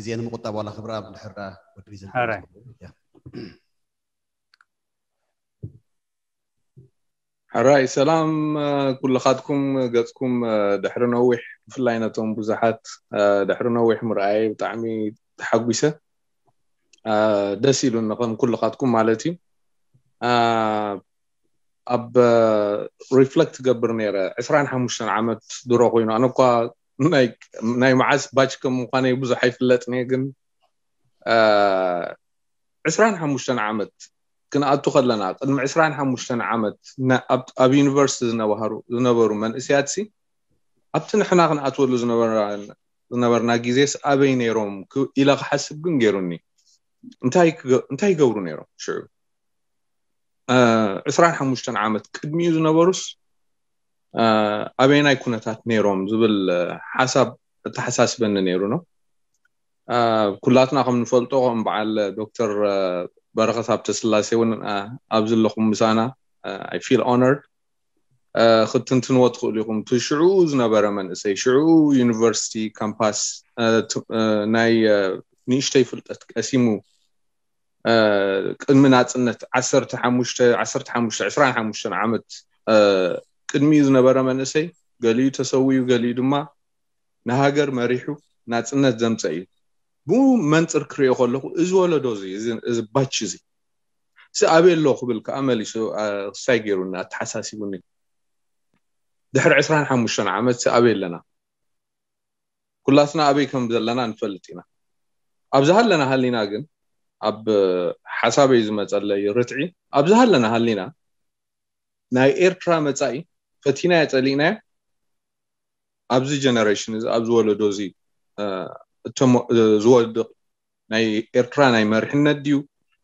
ግዜ ንምቁጣብ ዋላ ክብራ ብድሕር ወዲ ሪዘን ሕራይ። ሕራይ ሰላም፣ ኩልኻትኩም ገጽኩም ድሕሪ ነዊሕ፣ ብፍላይ ነቶም ብዙሓት ድሕሪ ነዊሕ ምርኣይ ብጣዕሚ ተሓጒሰ። ደስ ኢሉኒ ከም ኩልኻትኩም ማለት እዩ። ኣብ ሪፍለክት ገብር ነይረ። ዕስራን ሓሙሽተን ዓመት ድሮ ኮይኑ፣ ኣነ እኳ ናይ መዓስ ባች ከም ምዃነይ ብዙሕ ኣይፍለጥን እየ፣ ግን ዕስራን ሓሙሽተን ዓመት ክንኣቱ ከለና፣ ቅድሚ ዕስራን ሓሙሽተን ዓመት ኣብ ዩኒቨርሲቲ ዝነበሩ መንእስያትሲ ኣብቲ ንሕና ክንኣትወሉ ዝነበርና ግዜስ ኣበይ ነይሮም ኢለ ክሓስብ ግን ገይሩኒ። እንታይ ይገብሩ ነይሮም ሽዑ? ዕስራን ሓሙሽተን ዓመት ቅድሚኡ ዝነበሩስ ኣበየናይ ኩነታት ነይሮም ዝብል ሓሳብ እተሓሳስበኒ ነይሩ ነው። ኩላትና ከም ንፈልጦ ከም በዓል ዶክተር በረኸት ሃብተስላሴ እውን ኣብዚ ኣለኹም ምሳና፣ I feel honored ክትንትንዎ ትኽእሉ ኢኹም። እቲ ሽዑ ዝነበረ መንእሰይ ሽዑ ዩኒቨርሲቲ ካምፓስ ናይ ንእሽተይ ፍልጠት ቀሲሙ ቅድሚ ናፅነት ዓሰርተ ሓሙሽተ ዓሰርተ ሓሙሽተ ዕስራን ሓሙሽተን ዓመት ቅድሚኡ ዝነበረ መንእሰይ ገሊኡ ተሰዊኡ ገሊኡ ድማ ንሃገር መሪሑ ናፅነት ዘምፀ እዩ። ብኡ መንፅር ክሪኦ ከለኹ እዚ ወለዶ እዚ እዚ ባች እዚ ሲ ኣበይ ኣሎ ክብል ከዓ መሊሱ ክሳይ ገይሩኒ ኣተሓሳሲቡኒ። ድሕሪ ዕስራን ሓሙሽተን ዓመት ሲ ኣበይ ኣለና? ኩላትና ኣበይ ከም ዘለና ንፈልጥ ኢና። ኣብዚ ሃለና ሃሊና ግን ኣብ ሓሳበይ ዝመፀለይ ርትዒ ኣብዚ ሃለና ሃሊና ናይ ኤርትራ መፃኢ ፈቲናዮ ፀሊእናዮ ኣብዚ ጀነሬሽን እዚ ኣብዚ ወለዶ እዚ ዝወድቕ ናይ ኤርትራ ናይ መሪሕነት ድዩ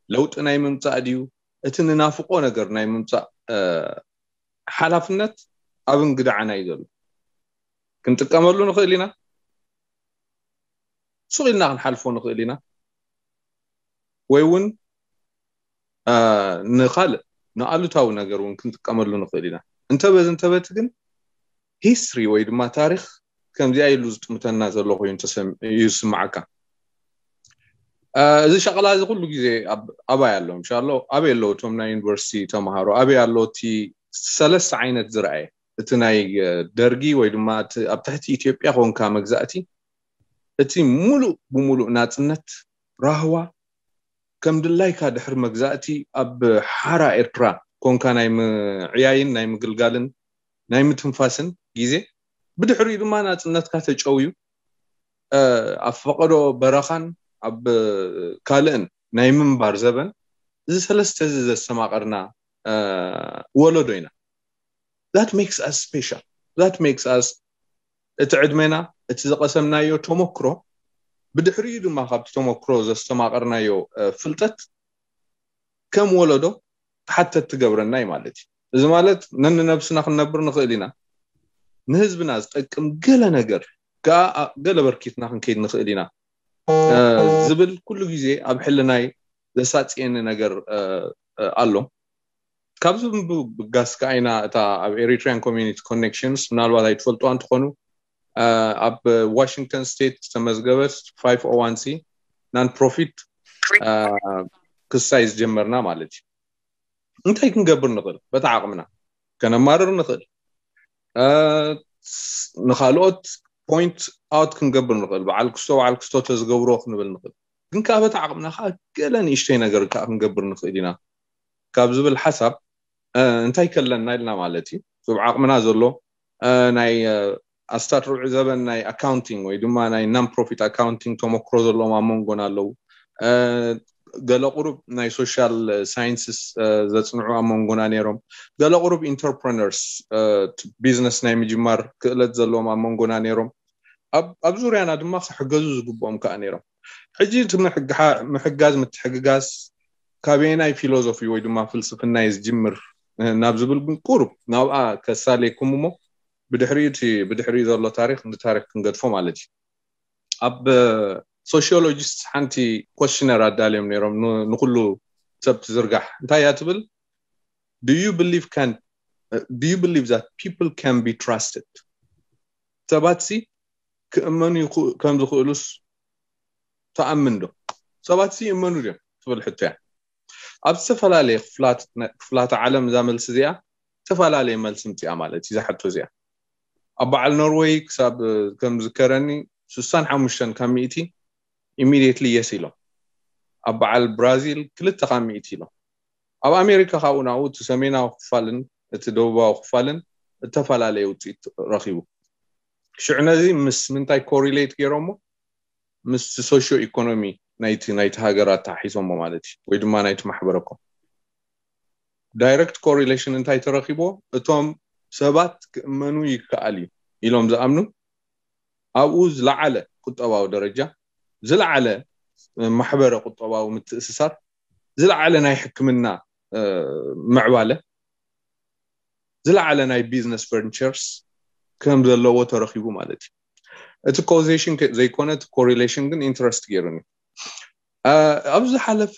ለውጢ ናይ ምምፃእ ድዩ እቲ ንናፍቆ ነገር ናይ ምምፃእ ሓላፍነት ኣብ እንግዳዓና እዩ ዘሎ። ክንጥቀመሉ ንኽእል ኢና፣ ሱቕ ኢልና ክንሓልፎ ንኽእል ኢና፣ ወይ እውን ንኻልእ ንኣሉታዊ ነገር እውን ክንጥቀመሉ ንኽእል ኢና። እንተበዚ እንተበቲ ግን ሂስትሪ ወይ ድማ ታሪኽ ከምዚኣ ኢሉ ዝጥምተና ዘሎ ኮይኑ እዩ ዝስምዓካ። እዚ ሸቕላ እዚ ኩሉ ግዜ ኣባይ ኣሎ። እንሻሎ ኣበይ ኣለዉ እቶም ናይ ዩኒቨርሲቲ ተምሃሮ? ኣበይ ኣሎ እቲ ሰለስተ ዓይነት ዝረኣየ? እቲ ናይ ደርጊ ወይ ድማ ኣብ ትሕቲ ኢትዮጵያ ኮንካ መግዛእቲ እቲ ሙሉእ ብሙሉእ ናፅነት ራህዋ ከም ድላይካ ድሕሪ መግዛእቲ ኣብ ሓራ ኤርትራ ኮንካ ናይ ምዕያይን ናይ ምግልጋልን ናይ ምትንፋስን ግዜ ብድሕሪኡ ድማ ናፅነትካ ተጨውዩ ኣብ ፈቐዶ በረኻን ኣብ ካልእን ናይ ምንባር ዘበን እዚ ሰለስተ እዚ ዘስተማቐርና ወለዶ ኢና። That makes us special. That makes us እቲ ዕድሜና እቲ ዝቐሰምናዮ ተመክሮ ብድሕሪኡ ድማ ካብቲ ተመክሮ ዘስተማቐርናዮ ፍልጠት ከም ወለዶ ተሓተት ትገብረና እዩ ማለት እዩ። እዚ ማለት ነንነብስና ክንነብር ንኽእል ኢና፣ ንህዝብና ዝጠቅም ገለ ነገር ከዓ ገለ በርኪትና ክንከይድ ንኽእል ኢና ዝብል ኩሉ ግዜ ኣብ ሕልናይ ዘሳፅየኒ ነገር ኣሎ። ካብዚ ብምብጋስ ከዓ ኢና እታ ኣብ Eritrean Community Connections ምናልባት ኣይትፈልጥዋ እንትኾኑ ኣብ ዋሽንግተን ስቴት ዝተመዝገበት ፋይቭ ኦ ዋን ሲ non profit ክስታይ ዝጀመርና ማለት እዩ። እንታይ ክንገብር ንኽእል? በታ ዓቕምና ከነማርር ንኽእል፣ ንኻልኦት ፖይንት ኣውት ክንገብር ንኽእል፣ በዓል ክስቶ በዓል ክስቶ ተዝገብሮ ክንብል ንኽእል። ግን ከዓ በታ ዓቕምና ከዓ ገለ ንእሽተይ ነገር ከዓ ክንገብር ንኽእል ኢና ካብ ዝብል ሓሳብ እንታይ ከለና ኢልና ማለት እዩ። ኣብ ዓቕምና ዘሎ ናይ ኣስታት ርብዒ ዘበን ናይ ኣካውንቲንግ ወይ ድማ ናይ non profit accounting ተመክሮ ዘለዎም ኣብ መንጎና ኣለዉ። ገለ ቁሩብ ናይ ሶሻል ሳይንስስ ዘፅንዑ ኣብ መንጎና ነይሮም። ገለ ቁሩብ ኢንተርፕረነርስ ቢዝነስ ናይ ምጅማር ክእለት ዘለዎም ኣብ መንጎና ነይሮም። ኣብ ዙርያና ድማ ክሕገዙ ዝግብኦም ከዓ ነይሮም። ሕጂ እቲ ምሕጋዝ ምትሕግጋዝ ካበየናይ ፊሎዞፊ ወይ ድማ ፍልስፍና እዩ ዝጅምር ናብ ዝብል ግን ቁሩብ ናብኣ ከሳሌኩም እሞ ብድሕሪኡ እቲ ብድሕሪኡ ዘሎ ታሪክ ንታሪክ ክንገድፎ ማለት እዩ። ኣብ ሶሽዮሎጂስት ሓንቲ ኮስሽነር ኣዳልዮም ነይሮም ንኩሉ ሰብ ትዝርጋሕ። እንታይ እያ ትብል? Do you believe can do you believe that people can be trusted? ሰባት ሲ ክእመኑ ከም ዝኽእሉስ ትኣምን ዶ? ሰባት ይእመኑ ድዮም ትብል ሕቶ እያ። ኣብ ዝተፈላለየ ክፍላተ ዓለም እዛ መልሲ እዚኣ ዝተፈላለየ መልሲ ምፅኣ ማለት እዩ። እዛ ሕቶ እዚኣ ኣብ በዓል ኖርወይ ክሳብ ከም ዝከረኒ ስሳን ሓሙሽተን ካብ ሚእቲ ኢሚድየትሊ የስ ኢሎም። ኣብ በዓል ብራዚል ክልተ ካብ ሚእቲ ኢሎም። ኣብ ኣሜሪካ ካብኡ ናብኡ እቲ ሰሜናዊ ክፋልን እቲ ደቡባዊ ክፋልን እተፈላለየ ውፅኢት ረኺቡ። ሽዑ ነዚ ምስ ምንታይ ኮሪሌት ገይሮሞ? ምስ ሶሽዮ ኢኮኖሚ ናይቲ ናይቲ ሃገር ኣተሓሒዞሞ ማለት እዩ፣ ወይ ድማ ናይቲ ማሕበረኮም። ዳይረክት ኮሪሌሽን እንታይ ተረኺቦ? እቶም ሰባት ክእመኑ ይከኣል እዩ ኢሎም ዝኣምኑ፣ ኣብኡ ዝለዓለ ቁጠባዊ ደረጃ፣ ዝለዓለ ማሕበረ ቁጠባዊ ምትእስሳር፣ ዝለዓለ ናይ ሕክምና ምዕባለ፣ ዝለዓለ ናይ ቢዝነስ ቨንቸርስ ከም ዘለዎ ተረኺቡ ማለት እዩ። እቲ ኮዜሽን ዘይኮነ እቲ ኮሪሌሽን ግን ኢንትረስት ገይሩኒ። ኣብ ዝሓለፈ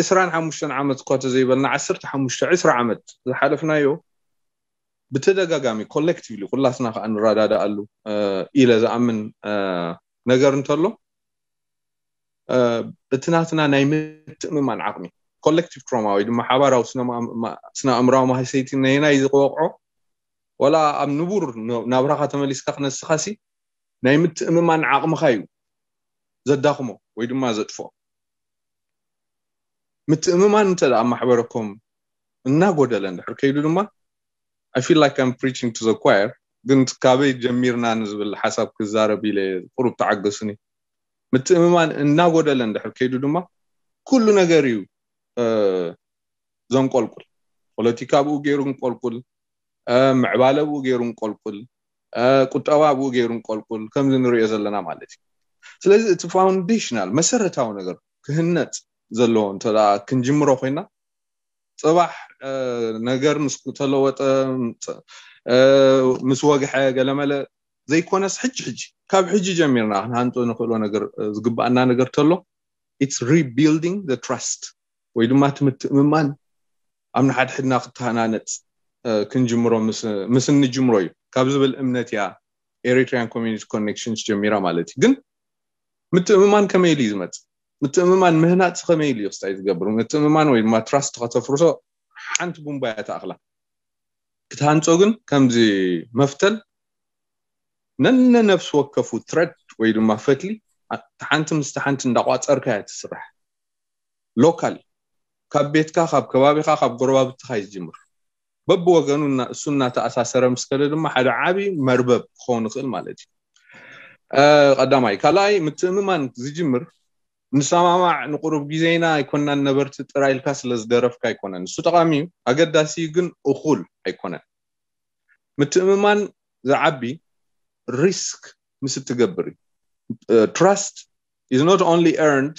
ዕስራን ሓሙሽተን ዓመት እኳ ተዘይበልና ዓሰርተ ሓሙሽተ ዕስራ ዓመት ዝሓለፍናዮ ብተደጋጋሚ ኮሌክቲቭሊ ኩላትና ከዓ ንረዳዳኣሉ ኢለ ዝኣምን ነገር እንተሎ እቲ ናትና ናይ ምትእምማን ዓቕሚ ኮሌክቲቭ ትሮማ ወይ ድማ ሓባራዊ ስነ ኣእምራዊ ማህሰይቲ ነየናይ ዝወቕዖ ዋላ ኣብ ንቡር ናብራኻ ተመሊስካ ክነስኻሲ ናይ ምትእምማን ዓቕምኻ እዩ ዘዳኽሞ ወይ ድማ ዘጥፍኦ። ምትእምማን እንተ ደኣ ማሕበረኮም እናጎደለ እንድሕር ከይዱ ድማ I feel like I'm preaching to the choir፣ ግን ካበይ ጀሚርና ንዝብል ሓሳብ ክዛረብ ኢለ ቁሩብ ተዓገሱኒ። ምትእምማን እናጎደለ እንድሕር ከይዱ ድማ ኩሉ ነገር እዩ ዘንቆልቁል። ፖለቲካ ብኡ ገይሩ እንቆልቁል፣ ምዕባለ ብኡ ገይሩ እንቆልቁል፣ ቁጠባ ብኡ ገይሩ እንቆልቁል ከምዚ ንሪኦ ዘለና ማለት እዩ። ስለዚ እቲ ፋውንዴሽናል መሰረታዊ ነገር ክህነፅ ዘለዎ እንተ ክንጅምሮ ኮይና ፅባሕ ነገር ምስ ተለወጠ ምስ ወግሐ ገለመለ ዘይኮነስ ሕጂ ሕጂ ካብ ሕጂ ጀሚርና ክንሃንፆ ንኽእሎ ነገር ዝግባኣና ነገር ተሎ it's rebuilding the trust ወይ ድማ እቲ ምትእምማን ኣብ ንሓድሕድና ክተሃናነፅ ክንጅምሮ ምስ እንጅምሮ እዩ ካብ ዝብል እምነት እያ ኤሪትሪያን ኮሚኒቲ ኮኔክሽንስ ጀሚራ ማለት እዩ። ግን ምትእምማን ከመይ ኢሉ እዩ ዝመፅእ? ምትእምማን ምህናፅ ከመይ ኢሉ እዩ ክስታይ ዝገብር? ምትእምማን ወይ ድማ ትራስት ከተፍርሶ ሓንቲ ቡምባ እያ ተኣኽላ። ክትሃንፆ ግን ከምዚ መፍተል ነነነፍሲ ወከፉ ትረድ ወይ ድማ ፈትሊ ሓንቲ ምስቲ ሓንቲ እንዳቋፀርካ እያ ትስራሕ። ሎካል ካብ ቤትካ ካብ ከባቢኻ ካብ ጎረባብትኻ እዩ ዝጅምር። በብወገኑ እሱ እናተኣሳሰረ ምስ ከደ ድማ ሓደ ዓብዪ መርበብ ክኸውን ይኽእል ማለት እዩ። ቀዳማይ። ካልኣይ ምትእምማን ዝጅምር ንሰማማዕ ንቁሩብ ግዜ ኢና ኣይኮናን ነበርቲ ጥራይ ኢልካ ስለ ዝደረፍካ ኣይኮነን። ንሱ ጠቓሚ እዩ፣ ኣገዳሲ እዩ፣ ግን እኹል ኣይኮነን። ምትእምማን ዝዓቢ ሪስክ ምስ እትገብር እዩ። Trust is not only earned,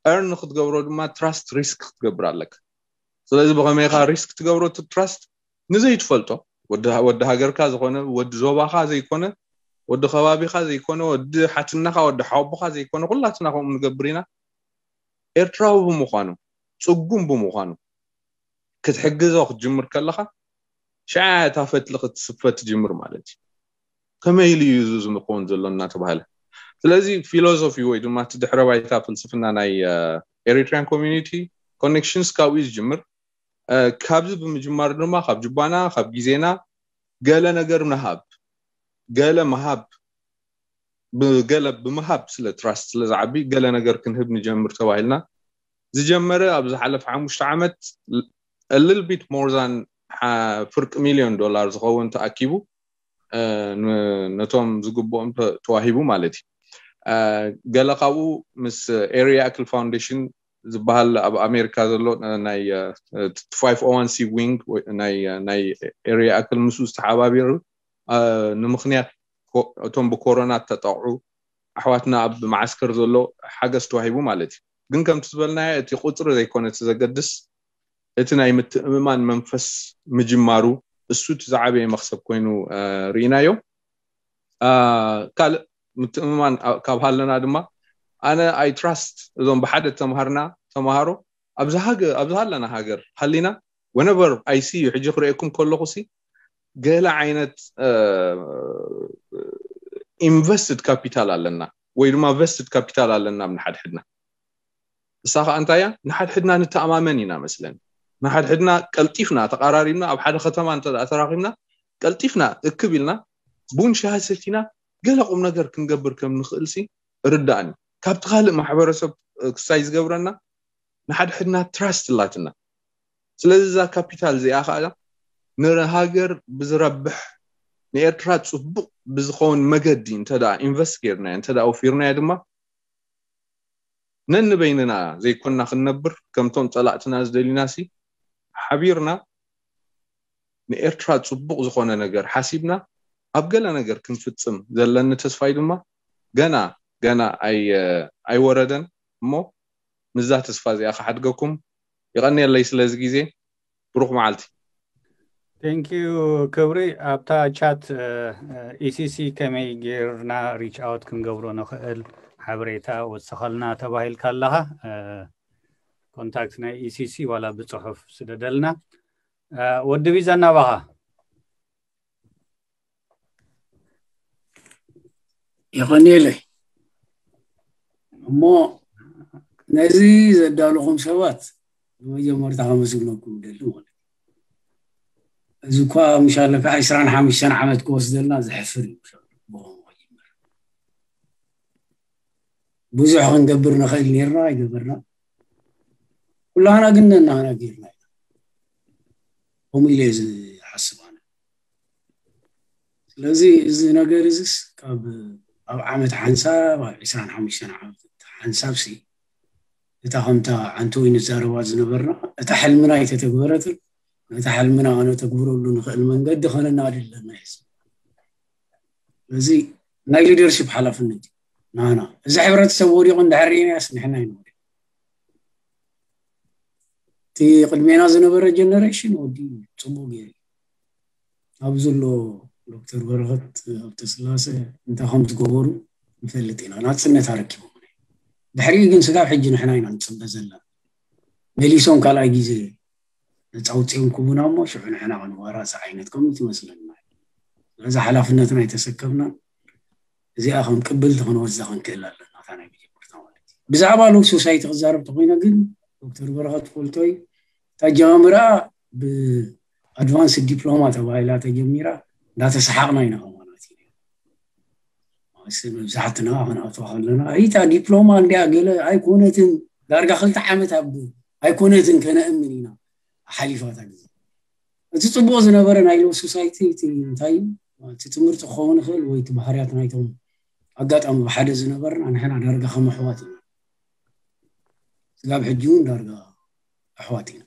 earn ንክትገብሮ ድማ ትራስት ሪስክ ክትገብር ኣለካ። ስለዚ ብኸመይካ ሪስክ ትገብሮ እቲ ትራስት ንዘይትፈልጦ ወዲ ሃገርካ ዝኾነ ወዲ ዞባኻ ዘይኮነ ወዲ ከባቢኻ ዘይኮነ ወዲ ሓትናኻ ወዲ ሓወቦኻ ዘይኮነ ኩላትና ከምኡ ንገብር ኢና። ኤርትራዊ ብምዃኑ ፅጉም ብምዃኑ ክትሕግዞ ክትጅምር ከለኻ ሽዓ እታ ፈትሊ ክትስፈ ትጅምር ማለት እዩ። ከመይ ኢሉ እዩ እዚ ዝኸውን ዘሎ እናተባሃለ ስለዚ ፊሎሶፊ ወይ ድማ እቲ ድሕረ ባይታ ፍልስፍና ናይ ኤሪትሪያን ኮሚኒቲ ኮኔክሽንስ ካብኡ እዩ ዝጅምር። ካብዚ ብምጅማር ድማ ካብ ጅባና ካብ ግዜና ገለ ነገር ምሃብ ገለ ምሃብ ገለ ብምሃብ ስለ ትራስት ስለ ዝዓቢ ገለ ነገር ክንህብ ንጀምር ተባሂልና ዝጀመረ ኣብ ዝሓለፈ ሓሙሽተ ዓመት a little bit more than ፍርቂ ሚልዮን ዶላር ዝኸውን ተኣኪቡ ነቶም ዝግብኦም ተዋሂቡ ማለት እዩ። ገለ ካብኡ ምስ ኤሪያ ኣክል ፋውንዴሽን ዝበሃል ኣብ ኣሜሪካ ዘሎ ናይ ፋይቭ ኦ ዋን ሲ ዊንግ ናይ ኤሪያ ኣክል ምስኡ ዝተሓባቢሩ ንምኽንያት እቶም ብኮሮና ተጠቕዑ ኣሕዋትና ኣብ መዓስከር ዘሎ ሓገዝ ተዋሂቡ ማለት እዩ። ግን ከምቲ ዝበልናዮ እቲ ቁፅሪ ዘይኮነ እቲ ዘገድስ እቲ ናይ ምትእምማን መንፈስ ምጅማሩ እሱ እቲ ዝዓበየ መክሰብ ኮይኑ ርኢናዮ። ካልእ ምትእምማን ካብ ሃለና ድማ ኣነ I trust እዞም ብሓደ ተምሃርና ተምሃሮ ኣብዚ ሃለና ሃገር ሃሊና whenever I see you ሕጂ ክርእየኩም ከለኹ ሲ ገለ ዓይነት ኢንቨስትድ ካፒታል ኣለና። ወይ ድማ vested capital ኣለና ኣብ ንሓድሕድና። እሳ ከዓ እንታይ እያ? ንሓድሕድና ንተኣማመን ኢና መስለኒ። ንሓድሕድና ቀልጢፍና ተቐራሪብና ኣብ ሓደ ከተማ እንተ ደኣ ተራኺብና ቀልጢፍና እክብ ኢልና ቡን ሻሂ ሰቲና ገለ ቁም ነገር ክንገብር ከም ንኽእል ሲ ርዳእኒ። ካብቲ ካልእ ማሕበረሰብ ክሳይ ዝገብረና ንሓድሕድና ትራስት ኣላትና። ስለዚ እዛ ካፒታል እዚኣ ከዓ ንሃገር ብዝረብሕ ንኤርትራ ፅቡቕ ብዝኸውን መገዲ እንተ ደኣ ኢንቨስት ጌርናዮ እንተ ደኣ ኣውፊርናዮ ድማ ነንበይንና ዘይኮንና ክንነብር ከምቶም ፀላእትና ዝደልዩና ሲ ሓቢርና ንኤርትራ ፅቡቕ ዝኾነ ነገር ሓሲብና ኣብ ገለ ነገር ክንፍፅም ዘለኒ ተስፋይ ድማ ገና ገና ኣይ- ኣይወረደን እሞ ምስዛ ተስፋ እዚኣ ክሓድገኩም ይቐንየለይ ስለዚ ግዜ ብሩኽ መዓልቲ። Thank you ክብሪ። ኣብታ ቻት ኢሲሲ ከመይ ጌርና ሪች ኣውት ክንገብሮ ንኽእል ሓበሬታ ወሰኸልና ተባሂልካ ኣለኻ። ኮንታክት ናይ ኢሲሲ ዋላ ብፅሑፍ ስደደልና። ወዲ ቢዛ እናባኻ የቐንየለይ። እሞ ነዚ ዘዳለኹም ሰባት ብመጀመርታ ከመስግነኩም ደሊ ማለት እዩ። እዚ እኳ ምሻለካ ዕስራን ሓሙሽተን ዓመት ክወስደልና ዘሕፍር እዩ። ብዙሕ ክንገብር ንኽእል ነርና ኣይገበርና። ኩላህና ግን ነናህና ጌርና ኢና። ከምኡ ኢለ ዝሓስብ ኣነ። ስለዚ እዚ ነገር እዚስ ካብ ኣብ ዓመት ሓንሳብ ኣብ ዕስራን ሓሙሽተን ዓመት ሓንሳብ ሲ እታ ከምታ ዓንተወይ ንዛረባ ዝነበርና እታ ሕልምና ኣይተተግበረትን ነታ ሕልምና ከነተግብረሉ ንኽእል መንገዲ ከነናድለና እዩ። ስለዚ ናይ ሊደርሽፕ ሓላፍነት እዩ ናና። እዚ ሕብረተሰብ ወዲቑ እንድሕር ርኢናያስ ንሕና ይንወዲቕ። እቲ ቅድሜና ዝነበረ ጀነሬሽን ወዲ ፅቡቅ ገይሩ ኣብ ዘሎ ዶክተር በረኸት ኣብተስላሰ እንታይ ከም ዝገበሩ ንፈልጥ ኢና። ናፅነት ኣረኪቦም ድሕሪኡ ግን ስጋብ ሕጂ ንሕና ኢና ንፅበ ዘለና። መሊሶም ካልኣይ ግዜ ነፃ ውፅኦም ክቡና እሞ ሽዑ ንሕና ክንዋራፅ ዓይነት ኮሚት ይመስለና። ስለዚ ሓላፍነትና ኣይተሰከምና። እዚኣ ከም ቅብልቲ ክንወስዳ ክንክእል ኣለና። እታ ናይ መጀመርታ ማለት እዩ። ብዛዕባ ሎው ሶሳይቲ ክዛረብ ተኮይነ ግን ዶክተር በረኸት ፈልቶይ እታ ጀማምራ ብኣድቫንስ ዲፕሎማ ተባሂላ ተጀሚራ እንዳተሰሓቕና ኢና ከማናት መብዛሕትና ክንኣትዋ ከለና እታ ዲፕሎማ እንዲያ ገለ ኣይኮነትን ዳርጋ ክልተ ዓመት ኣብ ኣይኮነትን ከነእምን ኢና ሓሊፋታ ግዜ። እቲ ፅቡቅ ዝነበረ ናይ ሎው ሶሳይቲ እቲ እንታይ እዩ እቲ ትምህርቲ ክኸውን ይኽእል ወይ እቲ ባህርያት ናይቶም ኣጋጣሚ ብሓደ ዝነበርና ንሕና ዳርጋ ከም ኣሕዋት ኢና። ስጋብ ሕጂ እውን ዳርጋ ኣሕዋት ኢና።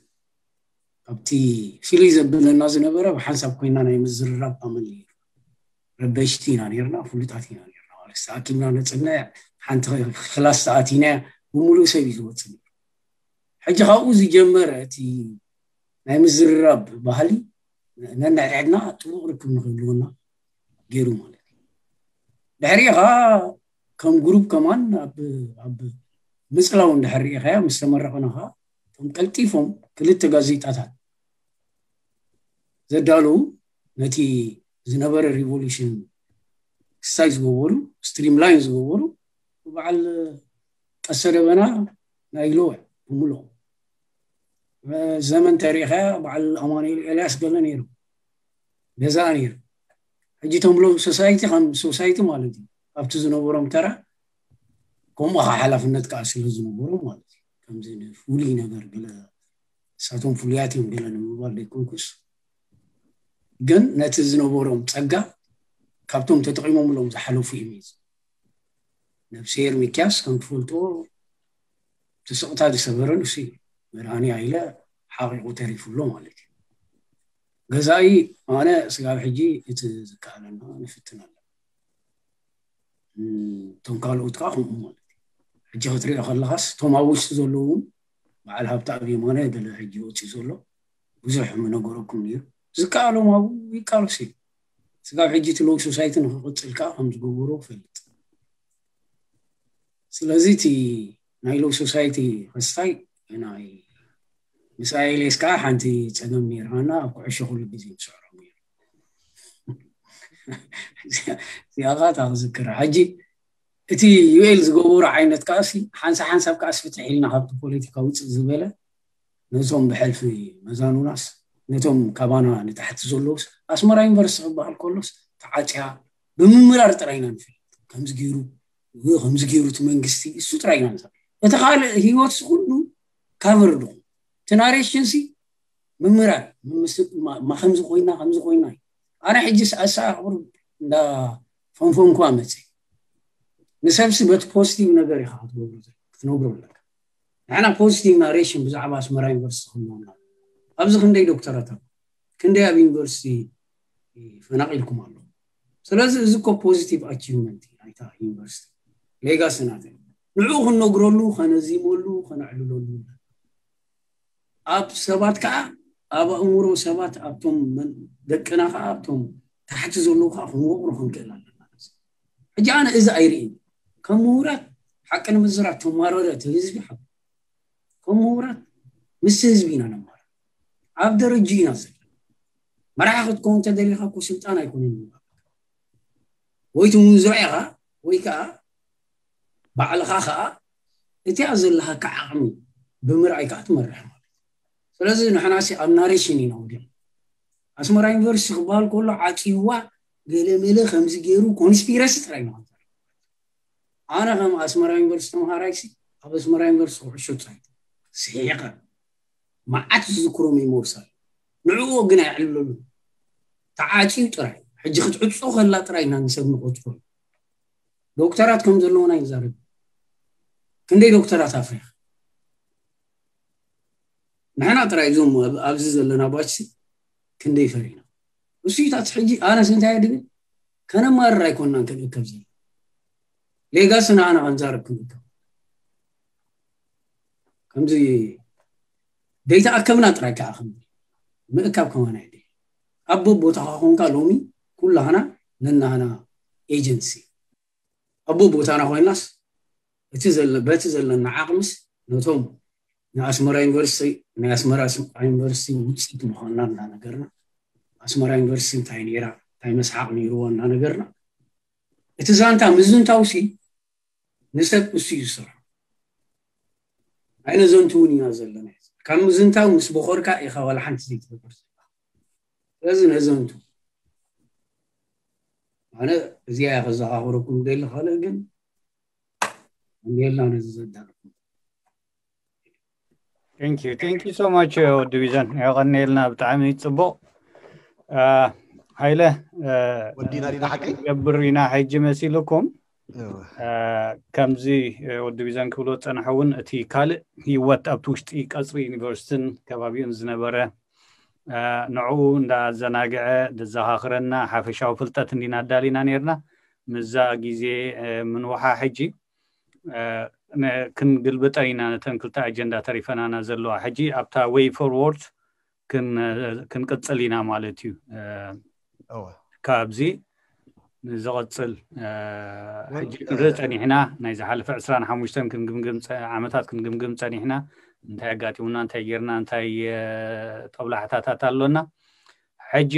ኣብቲ ፍልይ ዘብለና ዝነበረ ብሓንሳብ ኮይና ናይ ምዝርራብ ኣመል ነይሩ። ረበሽቲ ኢና ነርና፣ ፍሉጣት ኢና ነርና። ማለት ተኣኪብና ነፅና ሓንቲ ክላስ ተኣቲና ብምሉእ ሰብ እዩ ዝወፅእ ነይሩ። ሕጂ ካብኡ ዝጀመረ እቲ ናይ ምዝርራብ ባህሊ ነንሕድሕድና ጥቡቕ ርክብ ንክህልወና ገይሩ ማለት እዩ። ድሕሪኡ ከዓ ከም ግሩፕ ከማን ኣብ ኣብ ምፅላው እንድሕር ርኢኻያ ምስ ተመረቕና ከዓ እቶም ቀልጢፎም ክልተ ጋዜጣታት ዘዳለዉ ነቲ ዝነበረ ሪቮሉሽን ክሳይ ዝገበሩ ስትሪም ላይን ዝገበሩ በዓል ቀሰ ደበና ናይ ሎው ብምልኦም ዘመን ተሪኸ በዓል ኣማኑኤል ኤልያስ ገለ ነይሩ ገዛ ነይሩ። ሕጂ እቶም ሎው ሶሳይቲ ከም ሶሳይቲ ማለት እዩ ኣብቲ ዝነበሮም ተራ ከምኡ ከዓ ሓላፍነት ከዓ ስለ ዝነበሮም ማለት እዩ። ከምዚ ፍሉይ ነገር ገለ እሳቶም ፍሉያት እዮም ገለ ንምባል ደይኮንኩስ ግን ነቲ ዝነበሮም ፀጋ ካብቶም ተጠቂሞምሎም ዝሓለፉ እዮም። ነብስሄር ሚኪያስ ከም ትፈልጦ እቲ ስቕታ ዝሰበረ ንሱ እዩ። መድሃኒ ሃይለ ሓቒቑ ተሪፉ ኣሎ ማለት እዩ። ገዛኢ ኣነ ስጋብ ሕጂ እቲ ዝከኣለና ንፍትን ኣለና። እቶም ካልኦት ከዓ ከምኡ ማለት እዩ። ሕጂ ክትሪኦ ከለኻስ እቶም ኣብ ውሽጢ ዘለዉ እውን በዓል ሃብተኣብ የማነ ገለ ሕጂ ወፂኡ ዘሎ ብዙሕ ምነገረኩም ነይሩ። ዝከኣሎም ኣብኡ ይቃለሱ እዮም። ስጋብ ሕጂ እቲ ሎው ሶሳይቲ ንክቕፅል ከዓ ከም ዝገበሮ እፈልጥ። ስለዚ እቲ ናይ ሎው ሶሳይቲ ክስታይ ናይ ምስ ኣየሌስ ከዓ ሓንቲ ፀገም ነይርና ኣብ ኩዕሾ ኩሉ ግዜ ንስዕሮም ነይሩ። እዚኣ ከዓ እታ ክዝክራ ሕጂ እቲ ዩኤል ዝገበሩ ዓይነት ከኣሲ ሓንሳብ ሓንሳብ ከኣስ ፍትሕ ኢልና ካብቲ ፖለቲካ ውፅእ ዝበለ ነቶም ብሕልፊ መዛኑናስ ነቶም ካባና ንታሕቲ ዘለውስ ኣስመራ ዩኒቨርሲቲ ክበሃል ከሎስ ተዓፅያ ብምምራር ጥራይ ኢና ንፈልጥ። ከምዚ ገይሩ ከምዚ ገይሩ እቲ መንግስቲ እሱ ጥራይ ኢና ንፈልጥ። እቲ ካልእ ህይወትስ ኩሉ ካቨር ድኹም እቲ ናሬሽንሲ ምምራር ማ ከምዚ ኮይና ከምዚ ኮይና እዩ። ኣነ ሕጂ ኣሰኣኽብር እንዳ ፈንፈንኳ መፅእ ንሰብሲ በቲ ፖዚቲቭ ነገር ኢኻ ክትገብሩ ክትነግሩ ኣለካ። ንሕና ፖዚቲቭ ናሬሽን ብዛዕባ ኣስመራ ዩኒቨርሲቲ ክህልወና ኣብዚ ክንደይ ዶክተራት ኣብ ክንደይ ኣብ ዩኒቨርሲቲ ፈናቂልኩም ኣሎ። ስለዚ እዚ ኮ ፖዚቲቭ ኣቺቭመንት ናይታ ዩኒቨርሲቲ ሌጋሲ ናተ ንዕኡ ክነግረሉ ከነዚመሉ ከነዕልለሉ ኣብ ሰባት ከዓ ኣብ ኣእምሮ ሰባት ኣብቶም ደቅና ከዓ ኣብቶም ታሕቲ ዘለዉ ከዓ ክንወቅሮ ክንክእል ኣለና። ሕጂ ኣነ እዚ ኣይርእን ከም ምሁራት ሓቂ ንምዝራብ ተማረረ እቲ ህዝቢ ሓ ከም ምሁራት ምስ ህዝቢ ኢና ነማር ኣብ ደረጅ ኢና ዘለና። መራሒ ክትከውን ተደሊኻ እኮ ስልጣን ኣይኮነን ወይ ትምንዝሮ ኢኻ ወይ ከዓ ባዕልኻ ከዓ እቲኣ ዘለሃካ ዓቕሚ ብምርኣይ ከዓ ትመርሕ ማለት። ስለዚ ንሕና ሲ ኣብ ናሬሽን ኢና ወዲና። ኣስመራ ዩኒቨርሲቲ ክበሃል ከሎ ዓፂዋ ገለመለ ከምዚ ገይሩ ኮንስፒረሲ ጥራይ ኢና ኣነ ከም ኣስመራ ዩኒቨርሲቲ ተምሃራይ ሲ ኣብ ኣስመራ ዩኒቨርሲቲ ኩዕሾ ፃይት ስሒቐ መዓት ዝዝክሮ ሜሞርስ ኣሎ። ንዕኡ ግን ኣይዕልለሉ ተዓፅዩ ጥራይ ሕጂ ክትዕፆ ከላ ጥራይ ኢና ንሰብ ንቆፅሮ ዶክተራት ከም ዘለውና ይዛረብ። ክንደይ ዶክተራት ኣፍሪኻ ንሕና ጥራይ እዞም ኣብዚ ዘለና ባች ክንደይ ፈሪና እሱታት ሕጂ ኣነስ እንታይ ድብል ከነማርር ኣይኮንናን ክንእከብ ዘለ ሌጋስና ኣነ ከንዛረብ ክንእከብ ከምዚ ደይተኣከብና ጥራይ ከዓ ከም ምእካብ ከማና ይደ ኣብ ቦታኻ ኮንካ ሎሚ ኩላህና ነናህና ኤጀንሲ ኣብ ቦታና ኮይናስ እቲ በቲ ዘለና ዓቕምስ ነቶም ንኣስመራ ዩኒቨርሲቲ ናይ ኣስመራ ዩኒቨርሲቲ ውፅኢት ምዃንና እናነገርና ኣስመራ ዩኒቨርሲቲ እንታይ ነይራ እንታይ መስሓቕ ነይርዎ እናነገርና እቲ ዛንታ ምዝንታውሲ ንሰብ እሱ እዩ ዝሰርሖ። ኣይነዘንቱ እውን ኢና ዘለና ካብ ምዝንታው ምስ በኾርካ ኢኻ ዋላ ሓንቲ ዘይትገብር ዘላ ስለዚ ነዘንቱ ኣነ እዚኣ እያ ከዘኻኽረኩም ደሊ ካልእ ግን እንዴልና ነዚ ዘዳርኩም Thank you, thank you so much ወዲ ቢዘን የቐኒልና ብጣዕሚ ፅቡቕ። ሃይለ ወዲና ዲና ሓቂ ገብር ኢና ሕጂ መሲልኩም። ከምዚ ወዲ ቢዘን ክብሎ ዝፀንሐ እውን እቲ ካልእ ህይወት ኣብቲ ውሽጢ ቀፅሪ ዩኒቨርሲቲን ከባቢኡን ዝነበረ ንዕኡ እንዳዘናግዐ ዘዘኻኽረና ሓፈሻዊ ፍልጠት እንዲና ኣዳሊና ነርና። ምዛ ግዜ ምንውሓ ሕጂ ክንግልብጠን ኢና ነተን ክልተ ኣጀንዳ ተሪፈናና ዘለዋ። ሕጂ ኣብታ way forward ክንቅፅል ኢና ማለት እዩ። ካብዚ ንዝቕፅል ሕጂ ክንርኢ ፀኒሕና ናይ ዝሓለፈ ዕስራን ሓሙሽተን ክንግምግም ዓመታት ክንግምግም ፀኒሕና እንታይ ኣጋጢሙና እንታይ ጌርና እንታይ ጠብላሕታታት ኣሎና ሕጂ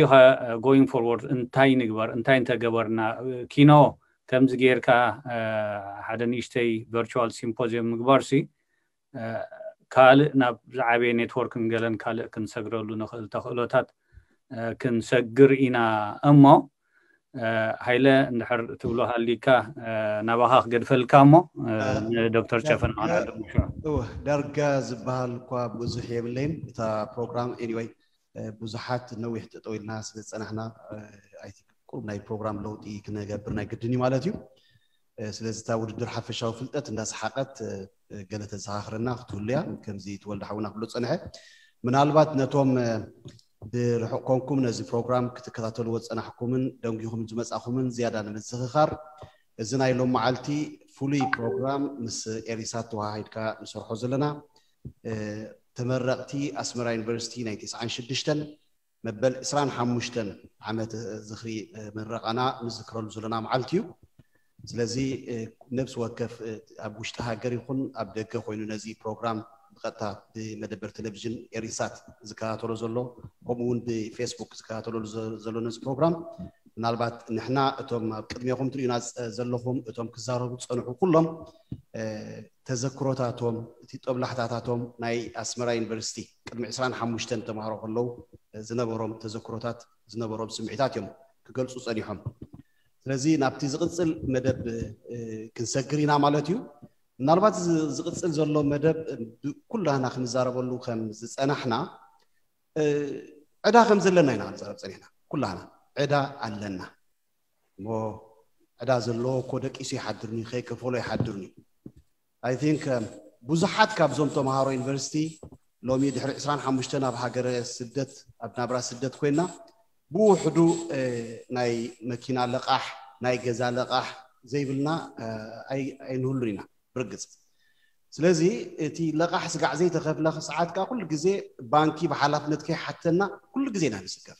going forward እንታይ ንግበር እንታይ እንተገበርና ኪኖ ከምዚ ጌርካ ሓደ ንእሽተይ virtual symposium ምግባር ሲ ካልእ ናብ ዝዓበየ network ን ገለን ካልእ ክንሰግረሉ ንኽእል ተኽእሎታት ክንሰግር ኢና እሞ ሃይለ እንድሕር ትብሎ ሃሊካ ናባኻ ክገድፈልካ እሞ ንዶክተር ጨፈን ዳርጋ ዝበሃል እኳ ብዙሕ የብለይን እታ ፕሮግራም anyway ብዙሓት ነዊሕ ጠጠው ኢልና ስለ ዝፀናሕና ቁሩብ ናይ ፕሮግራም ለውጢ ክነገብር ናይ ግድን እዩ ማለት እዩ። ስለዚ እታ ውድድር ሓፈሻዊ ፍልጠት እንዳሰሓቀት ገለ ተዘኻኽረና ክትህሉ እያ። ከምዚ ትወልደ ሓውና ክብሎ ዝፀንሐ ምናልባት ነቶም ብርሑቕ ኮንኩም ነዚ ፕሮግራም ክትከታተልዎ ዝፀናሕኩምን ደንጊኹም ዝመፃኹምን ዝያዳ ንምዝኽኻር እዚ ናይ ሎም መዓልቲ ፍሉይ ፕሮግራም ምስ ኤሪሳት ተወሃሂድካ ንሰርሖ ዘለና ተመረቕቲ ኣስመራ ዩኒቨርሲቲ ናይ ተስዓን ሽዱሽተን መበል ዕስራን ሓሙሽተን ዓመት ዝኽሪ ምረቓና ንዝክረሉ ዘለና መዓልቲ እዩ። ስለዚ ነብሲ ወከፍ ኣብ ውሽጢ ሃገር ይኹን ኣብ ደገ ኮይኑ ነዚ ፕሮግራም ብቐጥታ ብመደበር ቴሌቪዥን ኤሪሳት ዝከታተሎ ዘሎ ከምኡ እውን ብፌስቡክ ዝከታተለሉ ዘሎ ነዚ ፕሮግራም ምናልባት ንሕና እቶም ኣብ ቅድሜኹም ትርእዩና ዘለኹም እቶም ክዛረቡ ዝፀንሑ ኩሎም ተዘክሮታቶም፣ እቲ ጦብላሕታታቶም ናይ ኣስመራ ዩኒቨርሲቲ ቅድሚ ዕስራን ሓሙሽተን ተምሃሮ ከለዉ ዝነበሮም ተዘክሮታት፣ ዝነበሮም ስምዒታት እዮም ክገልፁ ፀኒሖም። ስለዚ ናብቲ ዝቕፅል መደብ ክንሰግር ኢና ማለት እዩ። ምናልባት ዝቕፅል ዘሎ መደብ ኩላና ክንዛረበሉ ከም ዝፀናሕና ዕዳ ከም ዘለና ኢና ክንዛረብ ፀኒሕና። ኩላና ዕዳ ኣለና። እሞ ዕዳ ዘለዎ እኮ ደቂሱ ይሓድርኒ፣ ከይከፈሎ ይሓድርኒ። I think ብዙሓት ካብዞም ተምሃሮ ዩኒቨርሲቲ ሎሚ ድሕሪ ዕስራን ሓሙሽተን ኣብ ሃገረ ስደት፣ ኣብ ናብራ ስደት ኮይና ብውሕዱ ናይ መኪና ለቓሕ፣ ናይ ገዛ ለቓሕ ዘይብልና ኣይንህሉን ኢና ብርግፅ። ስለዚ እቲ ለቓሕ ስጋዕ ዘይተኸፍለ ሰዓት ከዓ ኩሉ ግዜ ባንኪ ብሓላፍነት ከይሓተና ኩሉ ግዜ ኢና ንስከፍ።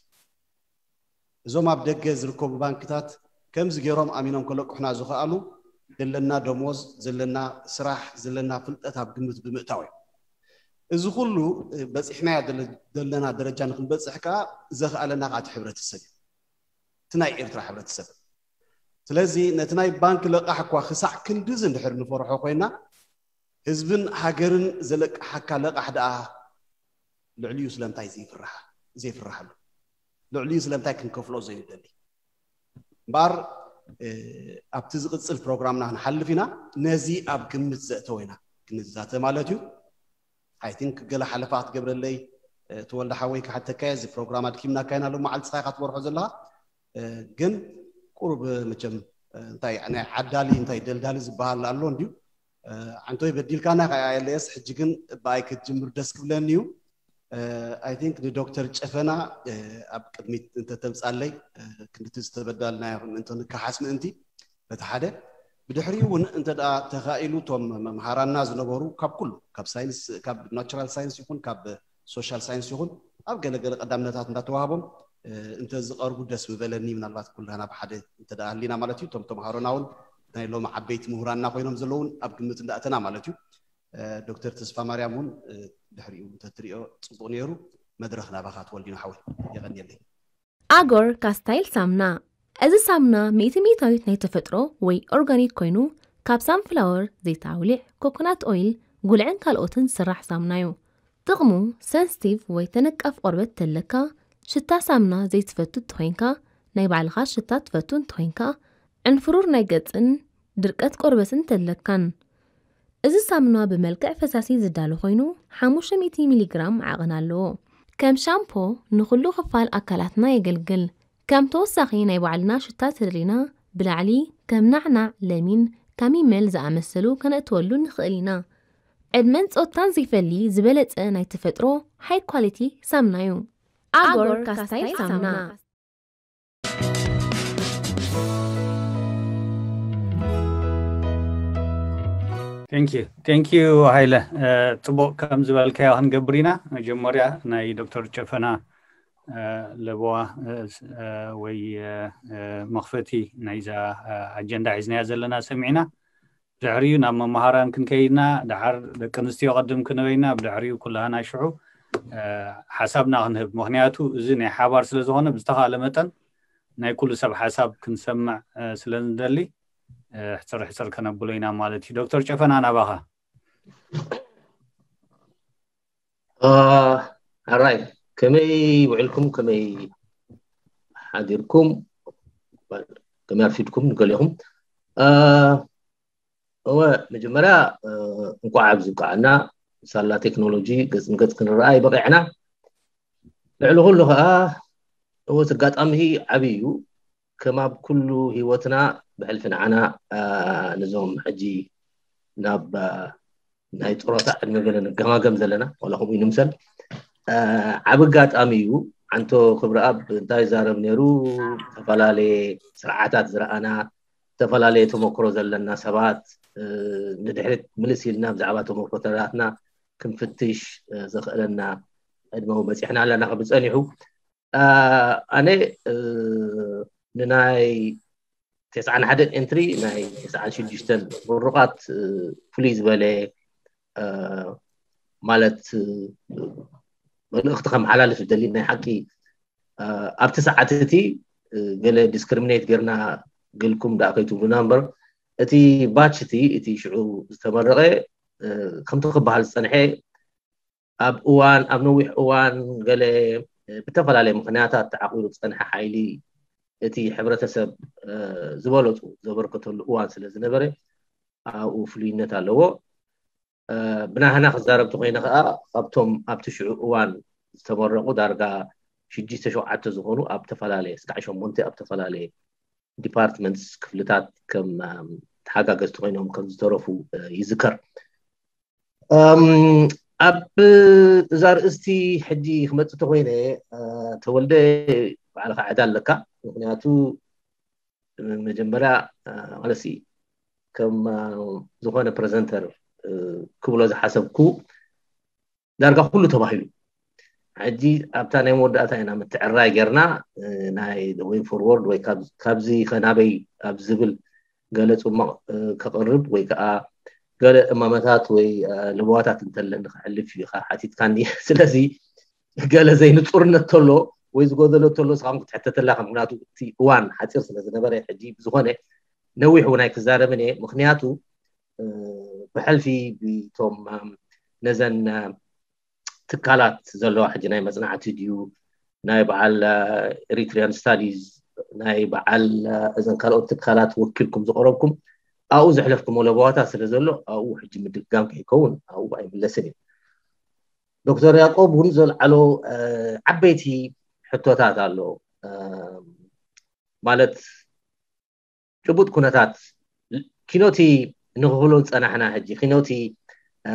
እዞም ኣብ ደገ ዝርከቡ ባንክታት ከምዚ ገይሮም ኣሚኖም ከለቅሑና ዝኽኣሉ ዘለና ደሞዝ፣ ዘለና ስራሕ፣ ዘለና ፍልጠት ኣብ ግምት ብምእታው እዩ። እዚ ኩሉ በፂሕናዮ ዘለና ደረጃ ንክንበፅሕ ከዓ ዘኽኣለና ከዓ እቲ ሕብረተሰብ እዩ፣ እቲ ናይ ኤርትራ ሕብረተሰብ። ስለዚ ነቲ ናይ ባንክ ለቃሕ እኳ ክሳዕ ክንድዚ እንድሕር ንፈርሖ ኮይና፣ ህዝብን ሃገርን ዘለቅሓካ ለቃሕ ደኣ ልዕሊኡ ስለምንታይ ዘይፍርሓ ዘይፍርሓሉ? ልዕሊኡ ስለምንታይ ክንከፍሎ ዘይንደሊ? እምበኣር ኣብቲ ዝቕፅል ፕሮግራምና ክንሓልፍ ኢና። ነዚ ኣብ ግምት ዘእተወ ኢና ክንዛተ ማለት እዩ። I think ገለ ሓለፋ ክትገብረለይ ተወልደ ሓወይ ክሓተካ እየ። እዚ ፕሮግራም ኣድኪምናካ ኢና ሎመዓልቲ፣ ንስኻ ኢኻ ትመርሖ ዘለኻ። ግን ቁሩብ መቸም እንታይ ናይ ዓዳሊ እንታይ ደልዳሊ ዝበሃል ኣሎ እንድዩ። ዓንቶይ በዲልካና ከኣ የለየስ፣ ሕጂ ግን ብኣይ ክትጅምር ደስ ክብለኒ እዩ። I think ንዶክተር ጨፈና ኣብ ቅድሚት እንተተምጻለይ ክንድቲ ዝተበዳልናዮ ምእንቲ ንከሓስ ምእንቲ በቲ ሓደ። ብድሕሪኡ እውን እንተ ደኣ ተኻኢሉ እቶም መምሃራና ዝነበሩ ካብ ኩሉ፣ ካብ ሳይንስ፣ ካብ ናቹራል ሳይንስ ይኹን ካብ ሶሻል ሳይንስ ይኹን ኣብ ገለገለ ቀዳምነታት እንዳተዋህቦም እንተ ዝቐርቡ ደስ ምበለኒ። ምናልባት ኩላና ብሓደ እንተ ደኣ ኣሊና ማለት እዩ። እቶም ተምሃሮና እውን ናይ ሎሚ ዓበይቲ ምሁራንና ኮይኖም ዘለውን ኣብ ግምት እንዳእተና ማለት እዩ። ዶክተር ተስፋ ማርያም እውን ድሕሪኡ እንተትሪኦ ጽቡቕ ነይሩ። መድረኽ ናባኻ ተወልዲኖ ሓወይ፣ የቐንየለይ። ኣጎር ካስታይል ሳምና። እዚ ሳምና ሚእቲ ሚእታዊት ናይ ተፈጥሮ ወይ ኦርጋኒክ ኮይኑ ካብ ሳንፍላወር፣ ዘይት ኣውሊዕ፣ ኮኮናት ኦይል፣ ጉልዕን ካልኦትን ዝስራሕ ሳምና እዩ። ጥቕሙ ሰንስቲቭ ወይ ተነቃፍ ቆርበት ተለካ፣ ሽታ ሳምና ዘይትፈቱ እንተኾይንካ፣ ናይ ባዕልኻ ሽታ ትፈቱ እንተኾይንካ፣ ዕንፍሩር ናይ ገጽን ድርቀት ቆርበትን ተለካን። እዚ ሳምና ብመልክዕ ፈሳሲ ዝዳሎ ኮይኑ ሓሙሽተ ሚእቲ ሚሊግራም ዓቐን ኣለዎ። ከም ሻምፖ ንኹሉ ክፋል ኣካላትና የገልግል። ከም ተወሳኺ ናይ ባዕልና ሽታ ተደሊና ብላዕሊ ከም ናዕናዕ፣ ለሚን፣ ካሚመል ዝኣመሰሉ ከነእትወሉ ንኽእል ኢና። ዕድመን ጾታን ዘይፈሊ ዝበለጸ ናይ ተፈጥሮ ሃይ ኳሊቲ ሳምና እዩ። ኣጎር ካስታይል ሳምና። Thank you ሃይለ። ፅቡቕ ከም ዝበልካዮ ክንገብር ኢና። መጀመርያ ናይ ዶክተር ጨፈና ለበዋ ወይ መኽፈቲ ናይዛ ኣጀንዳ ሒዝናያ ዘለና ሰሚዕና፣ ድሕሪኡ ናብ መምሃራን ክንከይድና፣ ደሓር ደቂ ኣንስትዮ ቅድም ክንበይና፣ ብድሕሪኡ ኩላህና ሽዑ ሓሳብና ክንህብ። ምኽንያቱ እዚ ናይ ሓባር ስለ ዝኾነ ብዝተኻለ መጠን ናይ ኩሉ ሰብ ሓሳብ ክንሰምዕ ስለ ንደሊ ሕፅር ሕፅር ከነብሎ ኢና ማለት እዩ። ዶክተር ጨፈና ናባኻ። ሕራይ፣ ከመይ ውዕልኩም፣ ከመይ ሓዲርኩም፣ ከመይ ኣርፊድኩም ንገሊኹም። እወ፣ መጀመርያ እንኳዕ ኣብዚ ብቃዕና። ሳላ ቴክኖሎጂ ገፅ ንገፅ ክንረኣ ይበቂዕና። ልዕሊ ኩሉ ከዓ እወ፣ እቲ ኣጋጣሚ ዓብይ እዩ። ከም ኣብ ኩሉ ህይወትና ብሕልፊ ንዓና ነዞም ሕጂ ናብ ናይ ጥሮታ ዕድመ ገለ ንገማገም ዘለና፣ ዋላ ከምኡ ይንምሰል። ዓብ ኣጋጣሚ እዩ። ዓንቶ ክብረኣብ እንታይ ይዛረብ ነይሩ? ዝተፈላለየ ስርዓታት ዝረኣና፣ ዝተፈላለየ ተመክሮ ዘለና ሰባት ንድሕሪት ምልስ ኢልና ብዛዕባ ተመክሮታትና ክንፍትሽ ዘኽእለና ዕድመ እውን በፂሕና ኣለና። ክብል ፀኒሑ ኣነ ንናይ ተስዓን ሓደን ኤንትሪ ናይ ተስዓን ሽዱሽተን ምሩቓት ፍሉይ ዝበለ ማለት መልእኽቲ ከመሓላልፍ ዝደሊ ናይ ሓቂ ኣብቲ ሰዓት እቲ ገለ ዲስክሪሚኔት ጌርና ግልኩም ደኣ ከይትብሉና እምበር፣ እቲ ባች እቲ እቲ ሽዑ ዝተመረቐ ከምቲ ክበሃል ዝፀንሐ ኣብ እዋን ኣብ ነዊሕ እዋን ገለ ብተፈላለየ ምክንያታት ተዓቂሩ ዝፀንሐ ሓይሊ እቲ ሕብረተሰብ ዝበለፁ ዘበርከተሉ እዋን ስለ ዝነበረ ኣብኡ ፍሉይነት ኣለዎ። ብናህና ክዛረብ ተኮይነ ከዓ ካብቶም ኣብቲ ሽዑ እዋን ዝተመረቑ ዳርጋ ሽዱሽተ ሸውዓተ ዝኾኑ ኣብ ተፈላለየ ስጋዕ ሸሞንተ ኣብ ተፈላለየ ዲፓርትመንትስ ክፍልታት ከም ተሓጋገዝቲ ኮይኖም ከም ዝተረፉ ይዝከር። ኣብ እዛ ርእስቲ ሕጂ ክመፅእ ተኮይነ ተወልደ ባዕልካ ዕዳ ኣለካ። ምክንያቱ መጀመርያ ማለት ከም ዝኾነ ፕረዘንተር ክብሎ ዝሓሰብኩ ዳርጋ ኩሉ ተባሂሉ። ሕጂ ኣብታ ናይ መወዳእታ ኢና ምትዕራይ ጌርና ናይ ወይ ፎርወርድ ወይ ካብዚ ከናበይ ኣብ ዝብል ገለ ፅሙቕ ከቕርብ ወይ ከዓ ገለ እማመታት ወይ ለበዋታት እንተለኒ ክሕልፍ ኢኻ ሓቲትካኒ። ስለዚ ገለ ዘይንፁርነት ተሎ ወይ ዝጎደሎ ተሎ ስኻም ክትሕተተላ ከም ምክንያቱ እቲ እዋን ሓፂር ስለ ዝነበረ ሕጂ ብዝኾነ ነዊሕ እውን ኣይክዛረብን እየ። ምክንያቱ ብሕልፊ ብቶም ነዘን ትካላት ዘለዋ ሕጂ ናይ መፅናዕቲ ድዩ ናይ በዓል ኤሪትሪያን ስታዲዝ ናይ በዓል እዘን ካልኦት ትካላት ወኪልኩም ዝቀረብኩም ኣብኡ ዘሕለፍኩሞ ለበዋታት ስለ ዘሎ ኣብኡ ሕጂ ምድግጋም ከይከውን ኣብኡ ኣይምለስን እዩ። ዶክተር ያቆብ እውን ዘልዓሎ ዓበይቲ ሕቶታት ኣሎ። ማለት ጭቡጥ ኩነታት ኪኖቲ ንክብሎ ዝፀናሕና ሕጂ ኪኖቲ